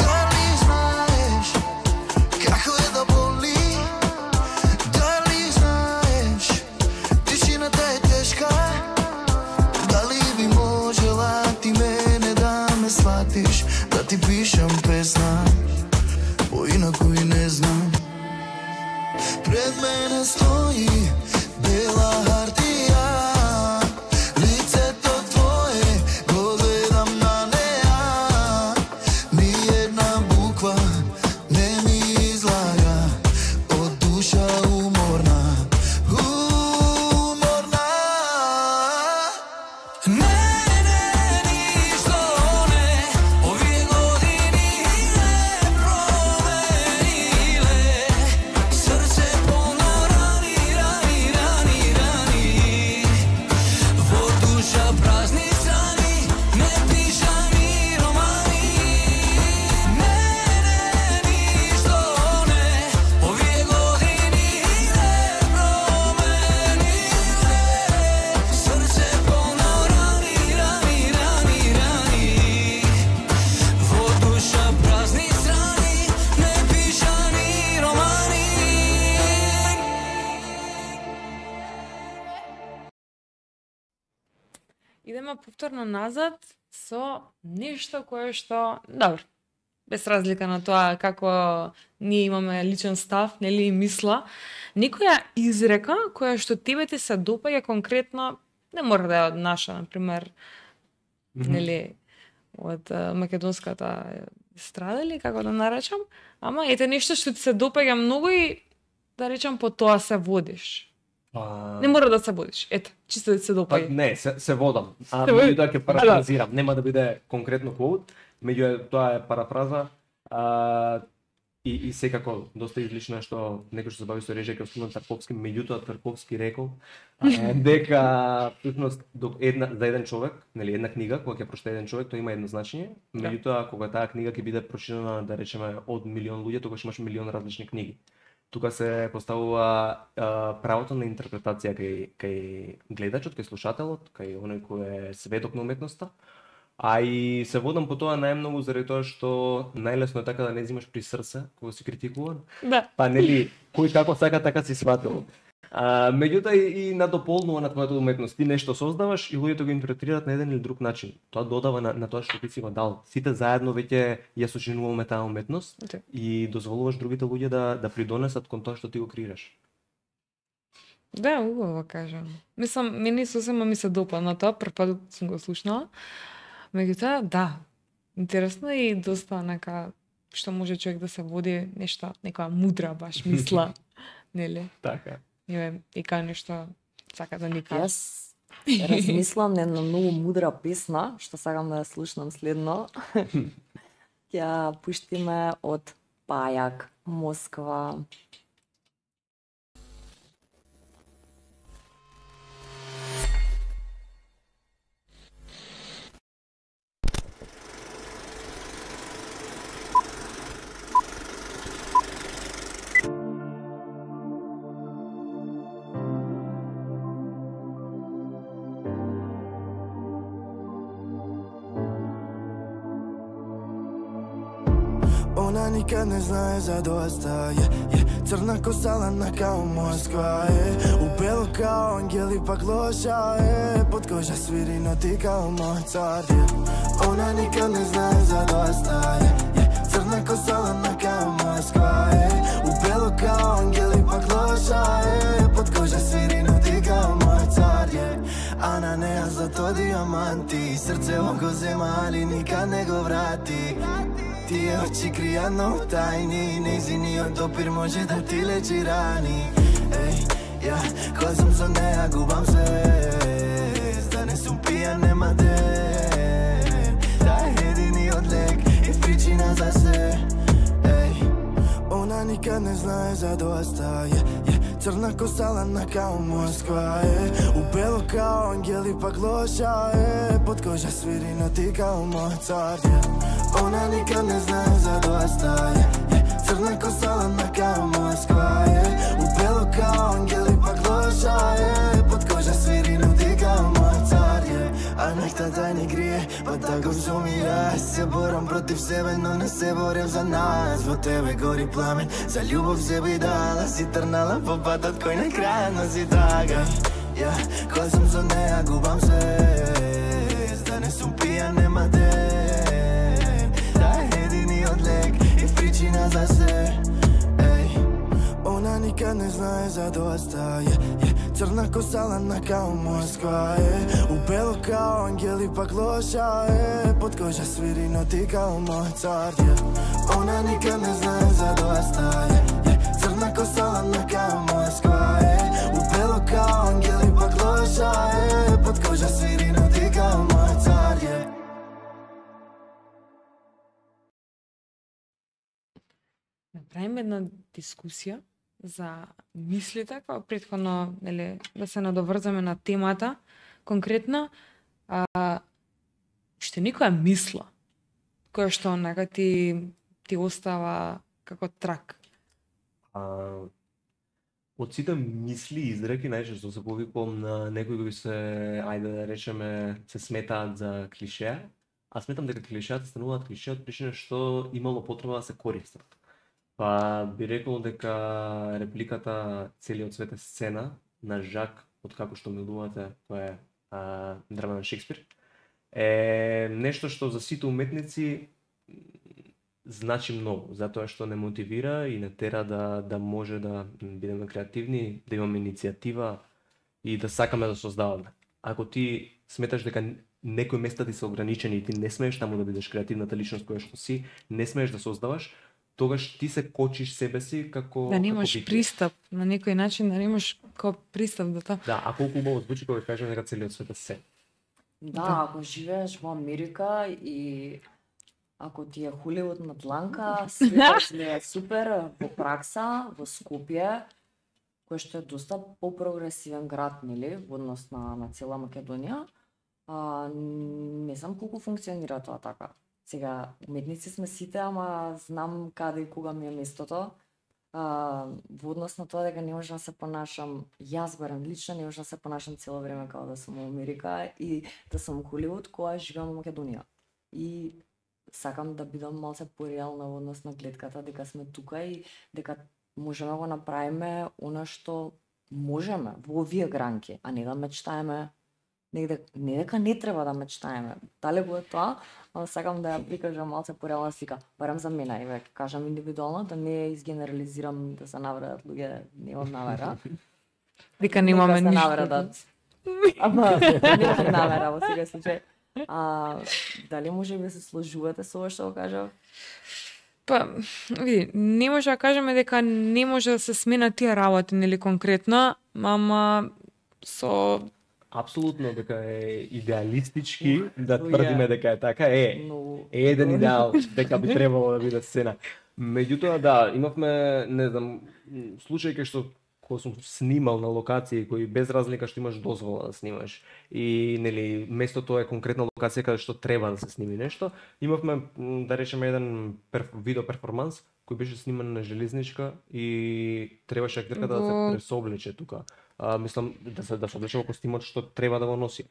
Дали знаеш како е да боли? Дали знаеш тишината е тешка? Дали би можела ти мене да ме сватиш, да ти пишам песна, поинаку и не знам. Пред мене стои бела хартија, лицето твое го гледам на неа, ни една буква не ми излага, од душа уморна, уморна. Мене ништо не, овие години не промениле, срце полно рани, рани, рани, рани, во душа празни страни, не пишани романи. Мене ништо не, овие години не промениле, срце полно рани, рани, рани, рани, во душа празни страни, не пишани романи. Идеме повторно назад со нешто кое што, добро, без разлика на тоа како ние имаме личен став, нели и мисла, некоја изрека која што тебе ти се допаѓа конкретно, не мора да е од наша, например, нели, од македонската естрада или како да наречам, ама ете нешто што ти се допаѓа многу и да речам по тоа се водиш. Не мора да се водиш, ете, чисто да ти се допаѓа. Не, се водам. Се води- Меѓутоа ќе парафразирам, нема да биде конкретно quote, тоа е парафраза. И секако доста излично е што некој што се бави со режија како Стивен Тарковски, меѓутоа Тарковски рекол дека всушност за еден човек, нели една книга кога ќе прочита еден човек, тоа има едно значење, меѓутоа кога таа книга ќе биде прочитана, да речеме, од милион луѓе, тогаш имаш милион различни книги. Тука се поставува правото на интерпретација кај гледачот, кај слушателот, кај оној кој е сведок на уметноста. А и се водам по тоа најмногу заради тоа што најлесно е така да не взимаш при срце кога си критикуван. Да. Па нели, кој како сака така си сватил. Меѓутоа и надополнува на твојата уметност. Ти нешто создаваш и луѓето го интерпретираат на еден или друг начин. Тоа додава на тоа што ти си го дал. Сите заедно веќе ја сочинуваме таа уметност и дозволуваш другите луѓе да придонесат кон тоа што ти го креираш. Да, убаво кажам. Мислам, мене сосема ми се допадна тоа, прв пат сум го слушнала. Меѓутоа, да, интересно и доста нека што може човек да се води нешто, некоја мудра баш мисла, нели? Така. И кај нешто сака да ни каже. Јас размислам на една многу мудра песна, што сакам да ја слушнам следно. Ќе пуштиме од Пајак, Москва. Она никад не знае за доста, црна коса на као Москва, убело као ангели пак лоша, под кожа свири ноти као Моцарт. Она никад не знае за доста, црна коса на као Москва, убело као ангели пак лоша, под кожа свири ноти као Моцарт. А на неа злато диаманти, срце он го зема, али никад не го врати. Тие очи кријат многу тајни, нејзиниот допир може да ти лечи рани. Ја, кога сум со неа губам се, да не сум пијан нема ден. Таа е единиот лек и причина за се. Она никад не знае за доста, црна коса ладна као Москва, убело као ангели пак лоша, под кожа свири ноти као Моцарт. Она никад не знае за доста, црна коса ладна као Москва, убело као ангели пак лоша, под кожа свири ноти као Моцарт. А нехта да не грие, па да го сумира. Се борам против себе, но не се борев за нас. Во тебе гори пламен, за љубов се би дала. Си трнала по патот кој на крајот носи тага. Ја, кога сум со неа губам се, да не сум пијан нема ден. Таа е единиот лек и причина за се. Она никад не знае за доста, црна коса ладна као Москва, убело као ангели пак лоша, под кожа свири ноти као Моцарт. Она никад не знае за доста, црна коса ладна као Москва, убело као ангели пак лоша, под кожа свири ноти као Моцарт. Направиме една дискусија за мислите, како претходно, нели, да се надоврзаме на темата, конкретно, што некоја мисла, која што нека ти остава како трак? Од сите мисли и изреки најчесто се повикувам на некои кои се, ајде да речеме, се сметаат за клишеа, а сметам дека клишеата стануваат клишеа од причина што имало потреба да се користат. Па би рекол дека репликата "Целиот свет е сцена" на Жак, од како што милувате, тоа е драма на Шекспир, е нешто што за сите уметници значи многу, затоа што не мотивира и не тера да може да бидеме креативни, да имаме иницијатива и да сакаме да создаваме. Ако ти сметаш дека некои места ти се ограничени и ти не смееш таму да бидеш креативната личност која што си, не смееш да создаваш, тогаш ти се кочиш себе си како да немаш пристап на некој начин, да немаш како пристап до тоа. Да, а колку убаво звучи кога кажам дека целиот свет е се. Да, ако живееш во Америка и ако ти е Холивуд на дланка, светот изгледа супер во пракса, во Скопје, кој што е доста попрогресивен град, нели, во однос на цела Македонија, не знам колку функционира тоа така. Сега, уметници сме сите, ама знам каде и кога ми е местото. Во однос на тоа дека не можам да се понашам, јас барем лично, не можам да се понашам цело време како да сум во Америка и да сум во Холивуд, која живеам во Македонија. И сакам да бидам малце пореална во однос на гледката дека сме тука и дека можеме да го направиме она што можеме во овие гранки, а не да мечтаеме негде, не дека не треба да мечтаеме. Далеку е тоа, но сакам да ја прикажам малце пореална слика, барем за мене, и веќе кажам индивидуално, да не изгенерализирам, да се навредат луѓе, немам намера. Дека немаме ништо. навредат. Ама немам намера во секој случај. Дали може би се сложувате со ова што го кажав? Па, види, не може да кажеме дека не може да се сменат тие работи, нели конкретно, ама со Апсолутно дека е идеалистички да тврдиме дека е така, е еден идеал дека би требало да биде сцена. Меѓутоа да, имавме, не знам, случај кај што кога сум снимал на локации кои без разлика што имаш дозвола да снимаш и нели местото е конкретна локација каде што треба да се сними нешто, имавме да речеме еден видео перформанс кој беше сниман на железничка и требаше актерката да се пресоблече тука. Мислам да се облече во костимот што треба да го носи.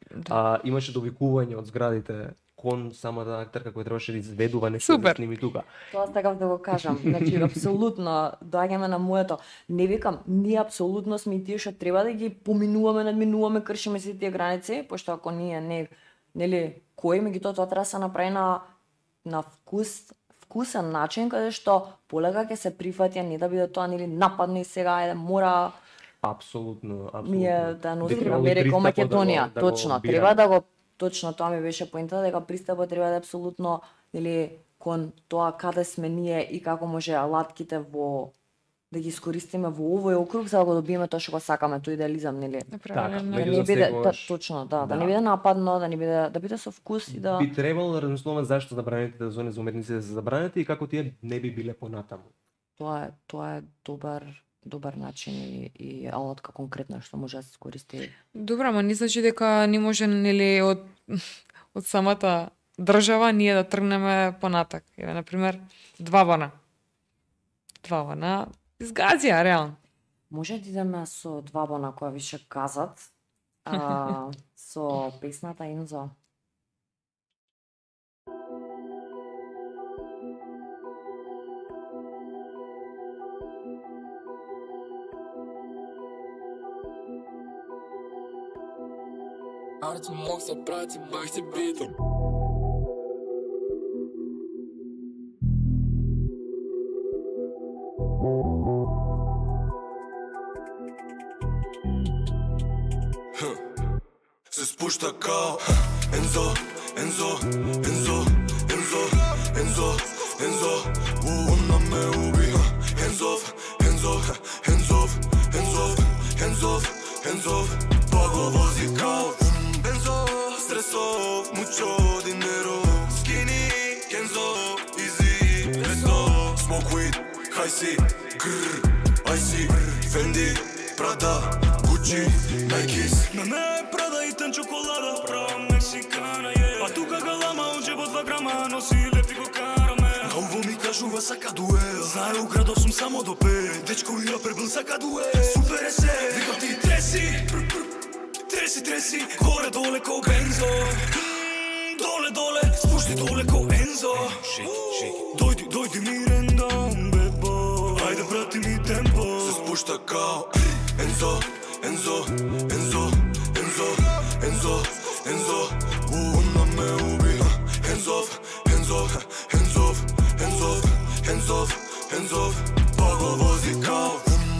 Имаше довикување од зградите кон самата актерка која требаше да изведува нешто да сними тука. Тоа сакав да го кажам. Значи апсолутно доаѓаме на моето. Не викам, ние апсолутно сме и тие што треба да ги поминуваме, надминуваме, кршиме се тие граници, пошто ако ние не нели кој меѓутоа тоа треба да се направи на вкусен начин каде што полека ќе се прифати, не да биде тоа нели нападно и сега мора Апсолутно. Ние да носиме Америка, Македонија, точно. Треба да го точно тоа ми беше поинтата дека пристапот треба да е апсолутно нели кон тоа каде сме ние и како може алатките да ги искористиме во овој округ за да го добиеме тоа што го сакаме, тој идеализам, нели? Така, да не биде точно, да не биде нападно, да биде со вкус и да би требало да размислуваме зашто забранетите зони за уметници да се забранети и како тие не би биле понатаму. Тоа е добар начин и алатка конкретно што може да се користи. Добро, ама не значи дека не може нели од самата држава ние да тргнеме понатак. Еве на пример, два бана изгазија реално. Може да идеме со два бана која више казат, со песната Ензо. Арцу мог се прати, бах си битом. Се спушта као Ензо, Ензо, Ензо, Ензо, Ензо, Ензо, она ме уби. Ензов, Ензов, Ензов, Ензов, Ензов, Ензов, па го вози као Бензо, стресов, мучо dinero, skinny, Kenzo, easy, resto, smoke weed, high C, grrr, icy, Fendi, Prada, Gucci, Nikes. На не Prada и тен чоколада, права мексикана е. А тука галама, он джебо 2 грама, носи лепти го караме. На уво ми кажува сака дуел, знае у градов сум само до 5. Дечко и рапер бил сака дуел, супер е се. Викам ти треси, треси, горе доле ко Бензо. Доле, спушти доле ко Ензо. Дојди мирен бебо, ајде брати ми темпо. Се спушта као Ензо, Ензо, Ензо, Ензо, Ензо, Ензо, она ме уби. Ензов, Ензов, Ензов, Ензов, Ензов, Ензов, па го вози као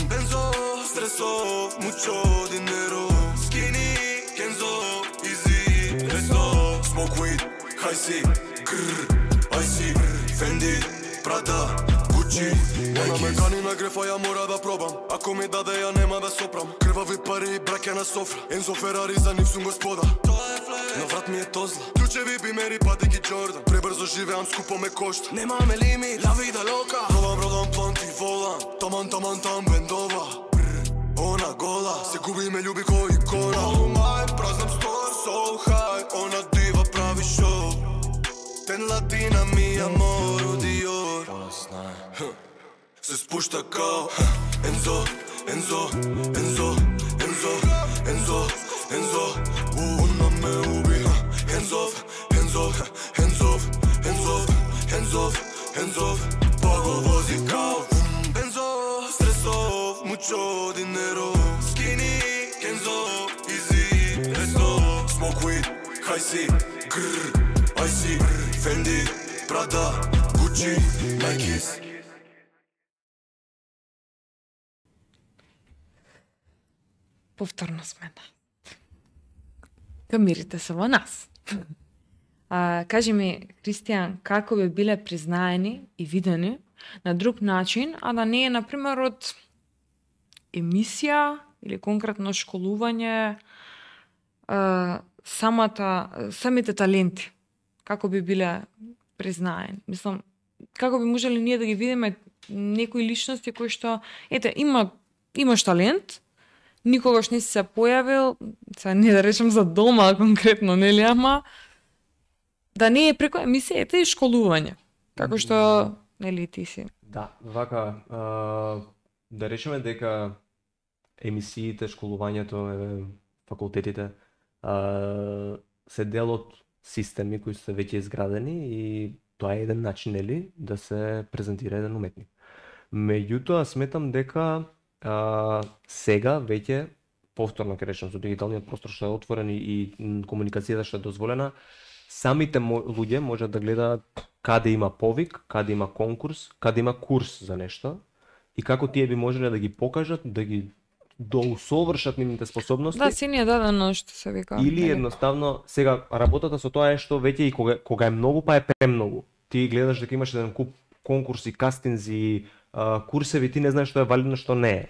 Бензо, стресов, мучо dinero, skinny, Kenzo, easy, resto, smoke weed, high C, grrr, icy, Fendi, Prada, Gucci, Ona me кани на грефа, ја мора да пробам. Ако ми даде, ја нема да сопрам. Крвави пари и браќа на софра. Ензо Ферари, за нив сум господа. На врат ми е тозла. Ключеви бимери, патеки Джордан. Пребрзо живеам, скупо ме кошта. Немаме лимит, ла вида лока. Пробам, планти волан. Таман, бендова. Она гола, се губи ме љуби ко икона. Oh my, празнам стор, so high. Она дива прави шоу. Ten latina mi amor, Dior. Она знае. Се спушта као Ензо, Ензо, Ензо, Ензо, Ензо, Ензо, она ме уби. Ензов, Ензов, Ензов, Ензов, Ензов, Ензов, па го вози као Бензо, стресов, мучо dinero, skinny, Kenzo, easy, resto, smoke weed, high C, grrr, icy, Fendi, Prada, Gucci, Nikes. Повторно сме. Камирите се во нас. Кажи ми, Кристијан, како би биле признаени и видени на друг начин, а да не е, например, од емисија или конкретно школување, самите таленти, како би биле признаени? Мислам, како би можеле ние да ги видиме некои личности кои што, ете, имаш талент, никогаш не си се појавил, сега не да речем за дома конкретно, нели, ама да не е преку емисијата и школување, како што, нели, ти си. Да, вака, да речеме дека емисиите, школувањето, факултетите се дел од системи кои се веќе изградени и тоа е еден начин, нели, да се презентира еден уметник. Меѓутоа, сметам дека сега веќе, повторно ќе речем, со дигиталниот простор што е отворен и комуникацијата што е дозволена, самите луѓе можат да гледаат каде има повик, каде има конкурс, каде има курс за нешто и како тие би можеле да ги покажат, да ги доусовршат нивните способности. Да, си ни е дадено што се вика. Или едноставно, сега работата со тоа е што веќе и кога е многу, па е премногу. Ти гледаш дека имаш еден куп конкурси, кастинзи, курсеви, ти не знаеш што е валидно, што не е.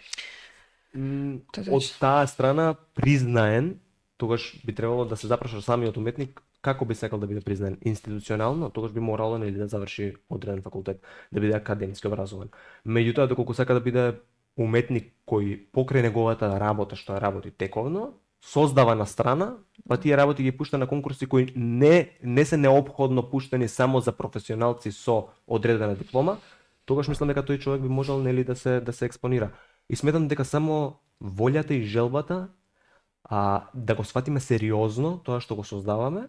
Од таа страна признаен, тогаш би требало да се запраша самиот уметник како би сакал да биде признаен институционално, тогаш би морало нели да заврши одреден факултет, да биде академски образован. Меѓутоа, доколку сака да биде уметник кој покрај неговата работа што работи тековно, создава на страна, па тие работи ги пушта на конкурси кои не се неопходно пуштени само за професионалци со одредена диплома, тогаш мислам дека тој човек би можел нели да се експонира. И сметам дека само волјата и желбата да го сватиме сериозно тоа што го создаваме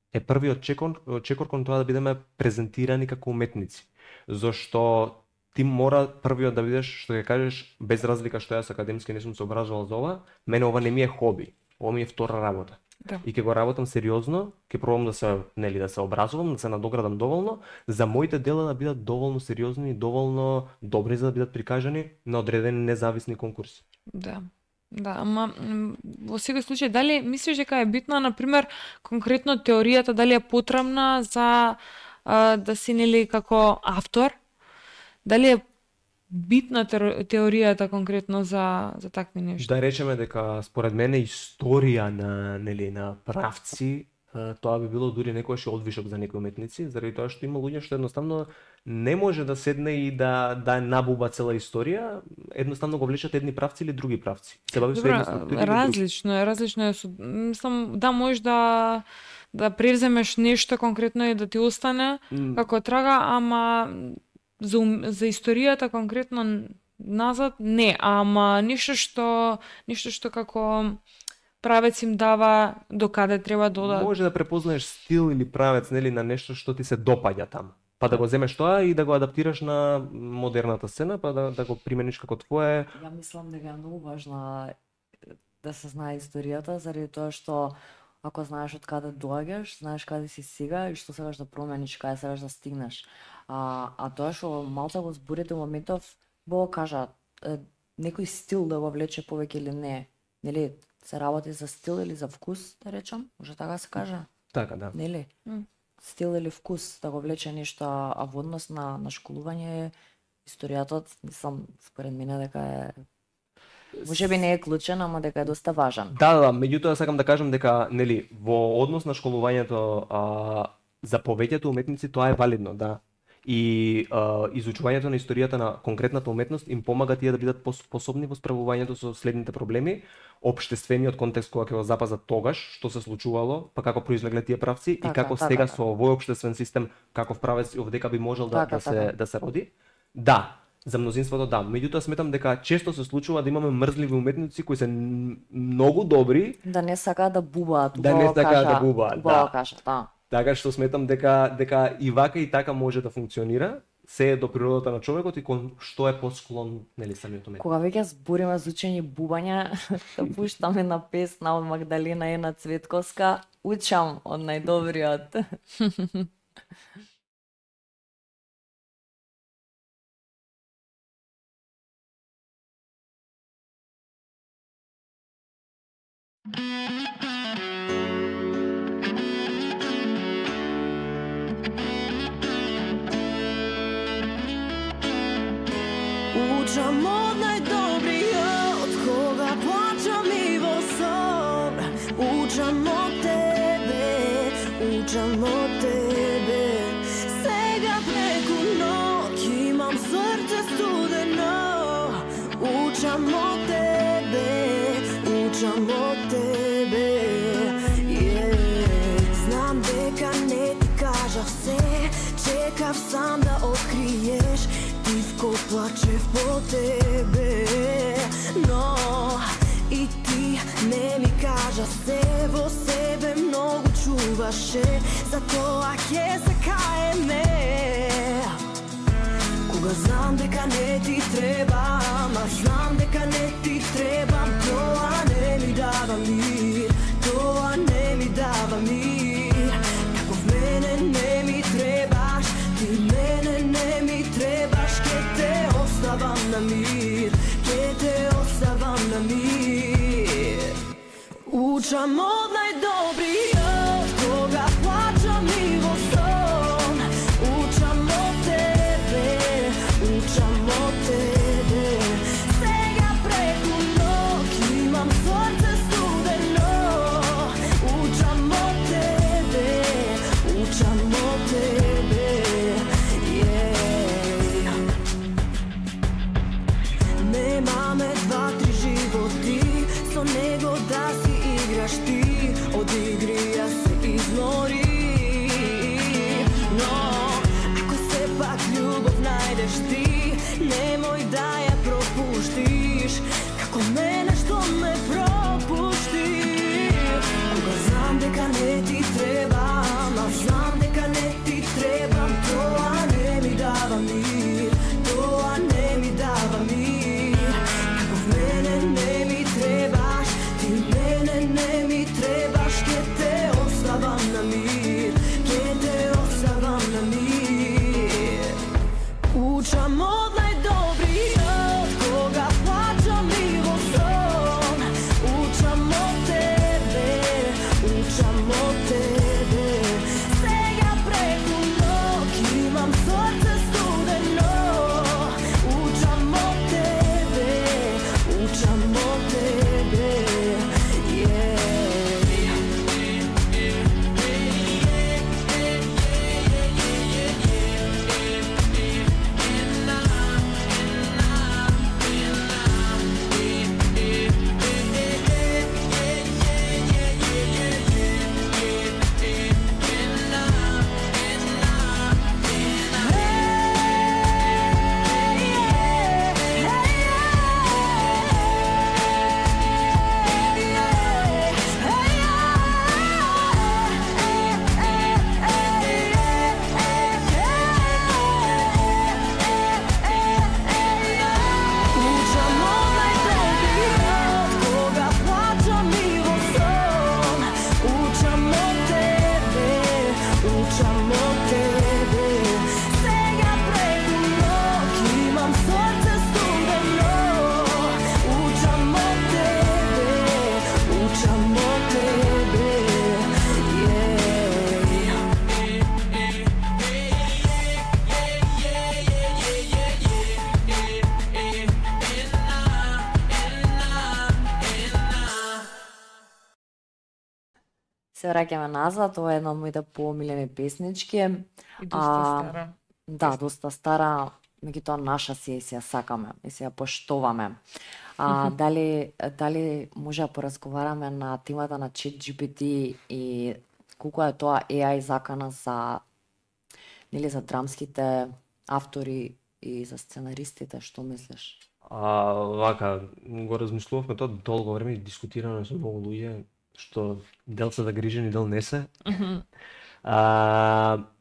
е првиот чекор кон тоа да бидеме презентирани како уметници. Зошто ти мора првиот да бидеш, што ќе кажеш, без разлика што јас академски не сум се образовал за ова, мене ова не ми е хоби, ова ми е втора работа. Да. И ќе го работам сериозно, ќе пробам да се образувам, да се надоградам доволно, за моите дела да бидат доволно сериозни и доволно добри за да бидат прикажани на одредени независни конкурси. Да. Да, ама во секој случај, дали мислиш дека е битна, например, конкретно теоријата, дали е потребна за да си нели како автор? Дали е битна теоријата конкретно за такви нешта? Да речеме дека според мене историја на правци, тоа би било дури некојаш одвишок за некои уметници, заради тоа што има луѓе што едноставно не може да седне и да набуба цела историја, едноставно го влечат едни правци или други правци. Се бави со едни структури. Различно е. Мислам, да можеш да превземеш нешто конкретно и да ти остане како трага, ама за историјата конкретно назад не, ама нешто што како правец им дава до каде треба да одат. Може да препознаеш стил или правец нели на нешто што ти се допаѓа таму. Па да го земеш тоа и да го адаптираш на модерната сцена, па да го примениш како твое. Ја мислам дека е многу важно да се знае историјата, заради тоа што ако знаеш од каде доаѓаш, знаеш каде си сега и што сакаш да промениш, каде сакаш да стигнеш. А тоа што малку го зборите моментов, Бог кажа, некој стил да го влече повеќе или не. Нели, се работи за стил или за вкус, да речам? Може така се кажа? Така, да. Нели? Стил или вкус да го влече нешто, а во однос на школување историјата, мислам, според мене дека е можеби не е клучен, ама дека е доста важен. Да, меѓутоа сакам да кажам дека нели во однос на школувањето за повеќето уметници тоа е валидно, да. И изучувањето на историјата на конкретната уметност им помага тие да бидат способни во справувањето со следните проблеми, општествениот контекст кога ќе го запазат тогаш, што се случувало, па како произлегле тие правци и како сега со овој општествен систем каков правец овдека би можел да се роди. Да, за мнозинството да. Меѓутоа сметам дека често се случува да имаме мрзливи уметници кои се многу добри, да не сакаат да бубаат, да. Така што сметам дека и вака и така може да функционира, се е до природата на човекот и кон што е посклон нели самиот уметник. Кога веќе збориме за учење бубања, да пуштаме на песна од Магдалина Ена Цветковска, учам од најдобриот. Учам од најдобриот, кога плачам и во сон. Учам од тебе, учам од тебе. Сега преку ноќ имам срце студено. Учам од тебе, учам од тебе. Знам дека не ти кажав се, чекав сам да откриеш. Тивко плачев по тебе, но и ти не ми кажа се, во себе многу чуваше, затоа ќе се каеме. Кога знам дека не ти требам, а знам дека не ти требам, тоа не ми дава мир, тоа не ми дава мир. Како в мене не ми требаш, ти мене не ми требаш, ке те оставам на мир, ке те оставам на мир. Учам од најдобриот, кога плачам и во сон. Учам од тебе, учам од тебе. Сега преку ноќ имам срце студено. Учам од тебе, учам од тебе. Немаме два-три животи, со него да си играш ти, од игри ја се измори. Но ако сепак љубов најдеш ти, немој да ја пропуштиш, како мене што ме пропушти. Кога знам дека не ти требам, а знам дека не ти требам, тоа не ми дава мир, тоа не ми дава мир. Како в мене не ми требаш, ти мене не ми требаш, ке те оставам на мир, ке те оставам на мир. Учам од најдобриот, кога плачам и во сон. Учам од тебе, учам од тебе. Сега преку ноќ имам срце студено. Учам од тебе, учам од тебе. Се враќаме назад, ова е една од моите поомилени песнички. И доста стара. Да, доста стара, меѓутоа наша си ја сакаме и си ја поштоваме. Дали може да поразговараме на темата на ChatGPT и колку е тоа AI закана за за драмските автори и за сценаристите, што мислиш? Вака, го размислувавме тоа долго време и дискутираме со многу луѓе, што дел се загрижени, дел не се.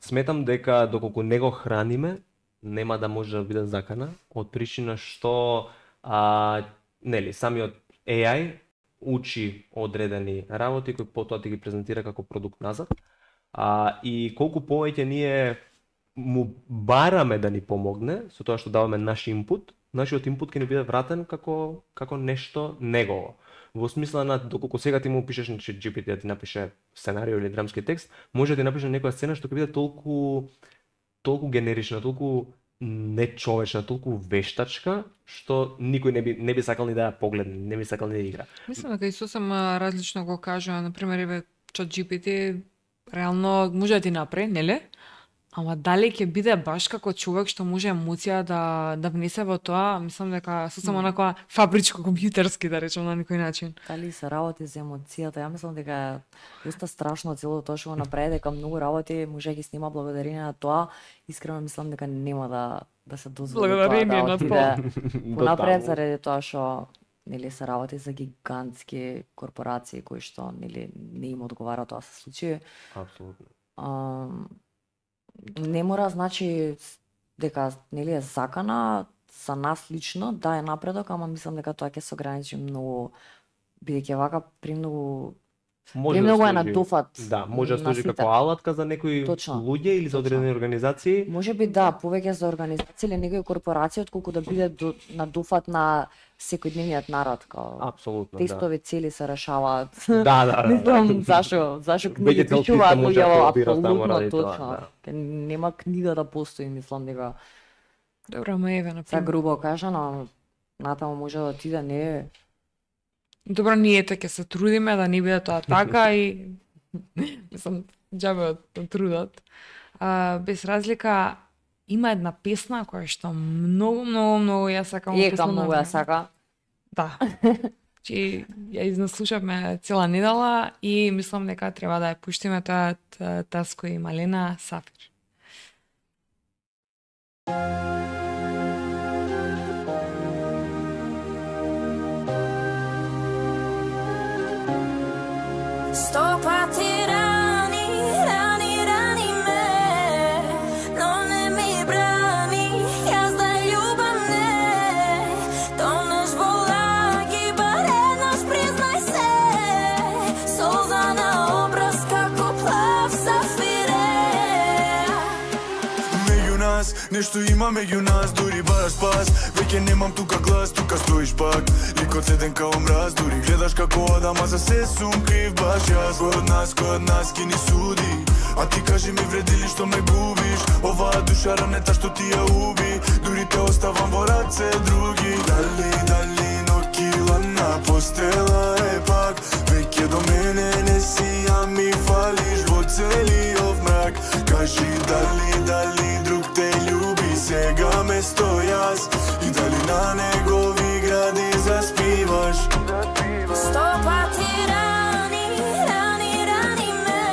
Сметам дека доколку не го храниме, нема да може да биде закана, од причина што самиот AI учи одредени работи кои потоа ти ги презентира како продукт назад. И колку повеќе ние му бараме да ни помогне со тоа што даваме наш инпут, нашиот инпут ќе ни биде вратен како нешто негово. Во смисла на доколку сега ти му пишеш на GPT да ти напише сценарио или драмски текст, може да ти напише некоја сцена што ќе биде толку генерична, толку нечовечна, толку вештачка, што никој не би сакал ни да ја погледне, не би сакал ни да игра. Мислам дека и сосем различно го кажува, например, еве ChatGPT реално може да ти направи, нели? Ама дали ќе биде баш како човек што може емоција да внесе во тоа, мислам дека сосем онака фабричко компјутерски да речем на некој начин. Дали се работи за емоцијата? Ја мислам дека е доста страшно цело тоа што го направи, дека многу работи може да ги снима благодарение на тоа. Искрено мислам дека нема да се дозволи благодарение тоа на да тоа. понапред заради тоа што нели се работи за гигантски корпорации кои што нели не им одговара тоа се случи. Апсолутно. Не мора значи дека нели е закана за нас лично да е напредок, ама мислам дека тоа ќе се ограничи многу бидејќи вака премногу премногу е на дофат. Да, може да служи како алатка за некои луѓе или за одредени организации. Може би да, повеќе за организации или некои корпорации отколку да биде на дофат на секојдневниот народ, као апсолутно, тестови цели се решаваат. Да. Мислам зашо книги пишуваат луѓе апсолутно точно. Нема книга да постои, мислам дека. Добро, ама еве на пример. Грубо кажано, натаму може да отиде не. Добро, ние ќе се трудиме да не биде тоа така и мислам џабе од трудот. Без разлика има една песна која што многу ја сакам. Многу ја сака. Да. Чи ја изнаслушавме цела недела и мислам дека треба да ја пуштиме тоа Таско и Малена Сафир. Сто пати рани ме, но не ми брани, јас да љубам не. Тонеш во лаги, бар еднаш признај се, солза на образ како плав сафире. Меѓу нас, нешто има меѓу нас, дури баш спас. Веќе немам тука глас, тука стоиш пак. Ликот седен као мраз, дури гледаш како Адама, за се сум крив баш јас. Кој од нас ки ни суди, а ти кажи ми вреди ли што ме губиш? Оваа душа ранета што ти ја уби, дури те оставам во раце други. Дали нокила на постела е пак, веќе до мене не си, а ми фалиш во целиот мрак. Кажи дали друг те љуби сега место јас, и дали на негови гради заспиваш. Сто пати рани ме,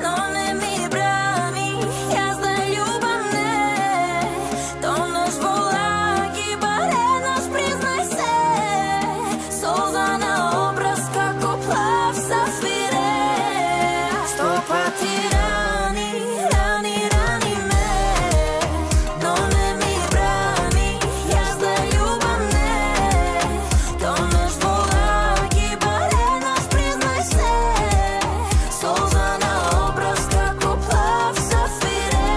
но не ми брани, јас да љубам не. Тонеш во лаги, бар еднаш признај се, солза на образ како плав сафире. Сто пати рани ме, но не ми брани, јас да љубам не. Тонеш во лаги, бар еднаш признај се, солза на образ како плав сафире.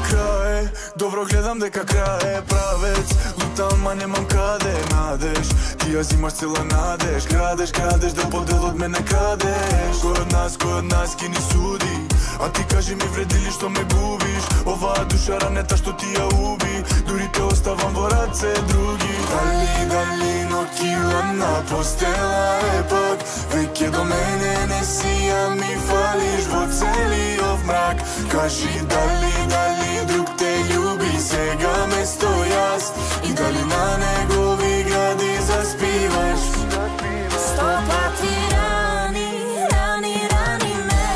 Крај, добро гледам дека крај е правец. Лутам, ма немам каде надеж. Ти ја зимаш цела надеж. Крадеш, да подел од мене крадеш. Кој од нас ки ни суди, а ти кажи ми вреди ли што ме губиш? Оваа душа ранета што ти ја уби, дури те оставам во раце други. Дали нокила на постела е пак, веќе до мене не си, а ми фалиш во целиот мрак. Кажи дали друг те љуби сега место јас, и дали на негови гради заспиваш. Сто пати рани ме,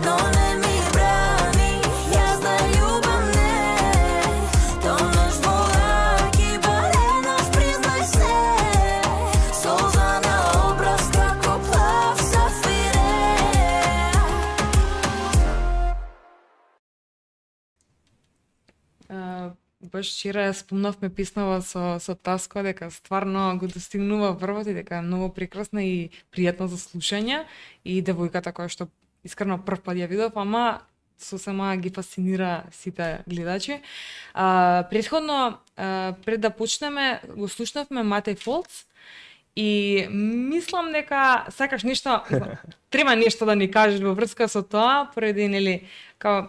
но не ми брани, јас да љубам не. Тонеш во лаги, бар еднаш признај се, солза на образ како плав сафире. Баш вчера спомнавме песнава со Таско дека стварно го достигнува врвот и дека е многу прекрасна и пријатна за слушање, и девојката која што искрено прв пат ја видов, ама сосема ги фасцинира сите гледачи. Претходно, пред да почнеме, го слушнавме Матеј Фолц и мислам дека сакаш нешто, треба нешто да ни кажеш во врска со тоа, поради нели као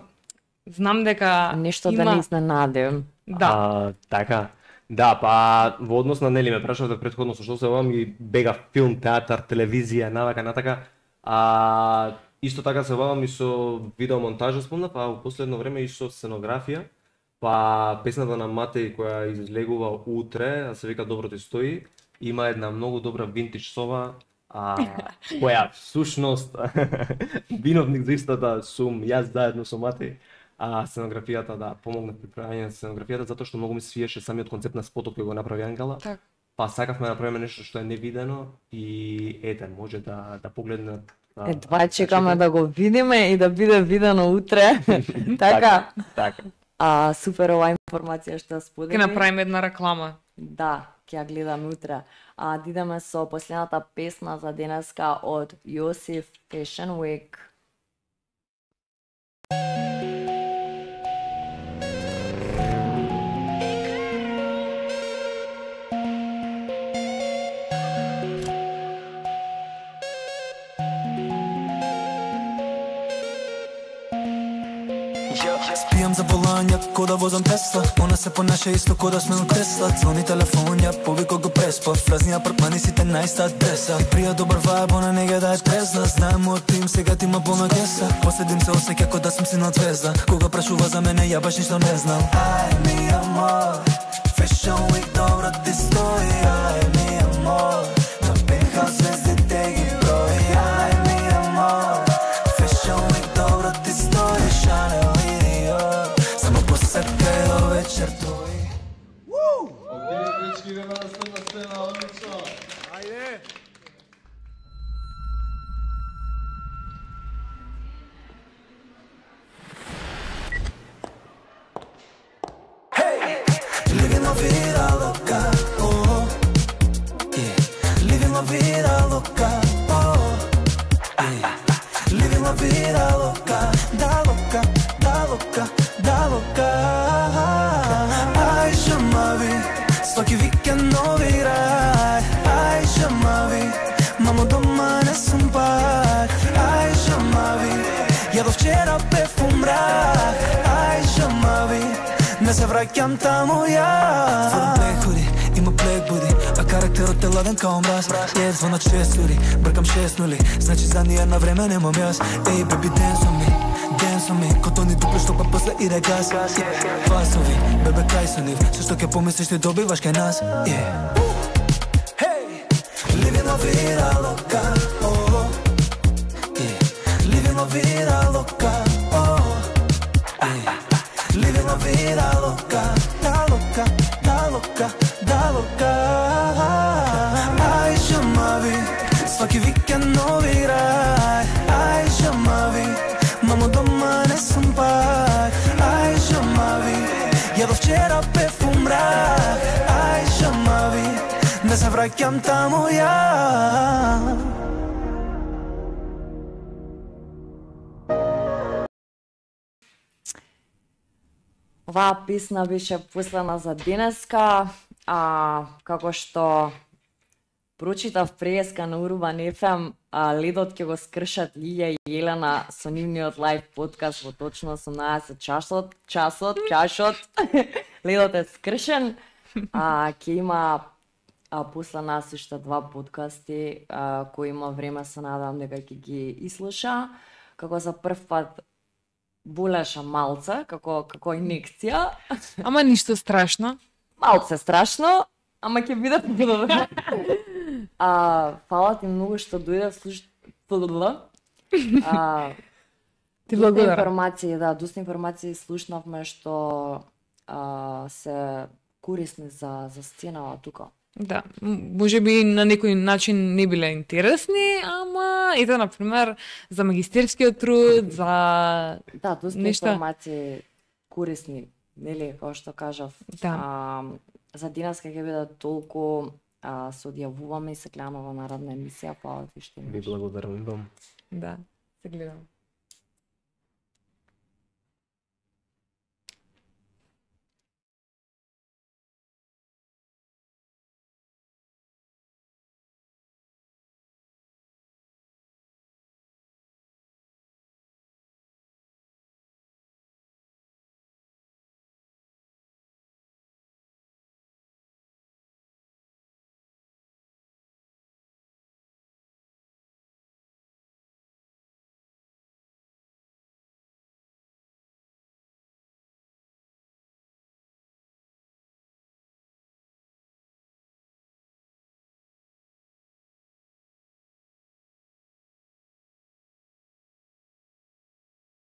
знам дека Нешто има... да не изненадим. Да. Така. Да, па во однос на нели ме прашавте претходно со што се бавам и бега филм, театар, телевизија, натака. Исто така се бавам и со видеомонтажа спомнав, а во последно време и со сценографија. Па песната на Матеј која излегува утре, а се вика Добро ти стои, има една многу добра винтидж сова, која всушност виновник за истата сум јас заедно со Матеј. Сценографијата, да, помогнав при правење на сценографијата затоа што многу ми свиеше самиот концепт на спотот кој го направи Ангела. Так. Па сакавме да направиме нешто што е невидено и ете, може да погледнат. Едва чекаме да го видиме и да биде видено утре. Така. Така. Супер оваа информација што сподели. Ќе направиме една реклама. Да, ќе ја гледаме утре. Да идеме со последната песна за денеска од Јосиф Fashion Week. Спијам за волања, ко да возам Тесла. Она се понаше исто ко да сме у Тесла. Звони телефонја, повико го преспав. Празни апартмани сите на иста адреса. Прија добар вајб, она не га да е трезна. Знаем мојот тим, сега ти има полна кеса. Последим се осеќа ко да сум син од звезда. Кога прашува за мене, ја баш ништо не знам. Ај ми амор, Fashion Week добро ти стои. Ај ми амор, на пентхаус звездите ги брои. Ај ми амор, Fashion Week добро ти стои. Chanel само посекај до вечер тој. Окей, дечки, идеме на следна сцена, одлично. Ајде. Living la vida loca, oh, yeah. Living la vida loca, oh, yeah. Living la vida loca, da loca, da loca, da loca. Ai, chama-vi, svaki vikend novi raj. Ai, chama-vi, mamo doma ne sam par. Ai, chama-vi, ja do včera pevkom mrak. Ai, chama-vi, не се враќам таму ја. Твојот плек худи, има плек буди, а карактерот е ладен као мраз. Е, звонат 6 људи, бркам 6 нули, значи за ни една време немам јас. Ей, беби, dance on me, ко тони дупло што па после иде газ. Фасови, бебе, кај со нив, се што ќе помислиш ти добиваш кај нас. Living la vida loca, oh, yeah. Living la vida loca, oh, yeah. Living la vida loca, da loca, da loca, da loca. Ai, chama-vi, svaki vikend novi raj. Ai, chama-vi, mamo doma ne sam par. Ai, chama-vi, ja do včera pevkom mrak. Ai, chama-vi, ne se vraќam таму ја. Оваа песна беше послана за денеска, како што прочитав преска на Урбан FM, ледот ќе го скршат Лилја и Елена со нивниот лайв подкаст во точно 18 часот. Ледот е скршен. Ќе има после нас уште 2 подкасти кои има време, се надам дека ќе ги изслуша. Како за прв пат болеша малце, како инекција. Ама ништо страшно. Малце страшно, ама ќе биде подобро. Фала ти многу што дојде Ти благодарам. Доста информации слушнавме што се корисни за сценава тука. Да, може би на некој начин не биле интересни, ама ето, например, за магистерскиот труд, за да, доста нешта информации корисни, нели, како што кажав. Да. За денеска ќе биде толку, се одјавуваме и се гледаме во наредна емисија, па ти што имаш. Ви благодарам. Да, се гледам.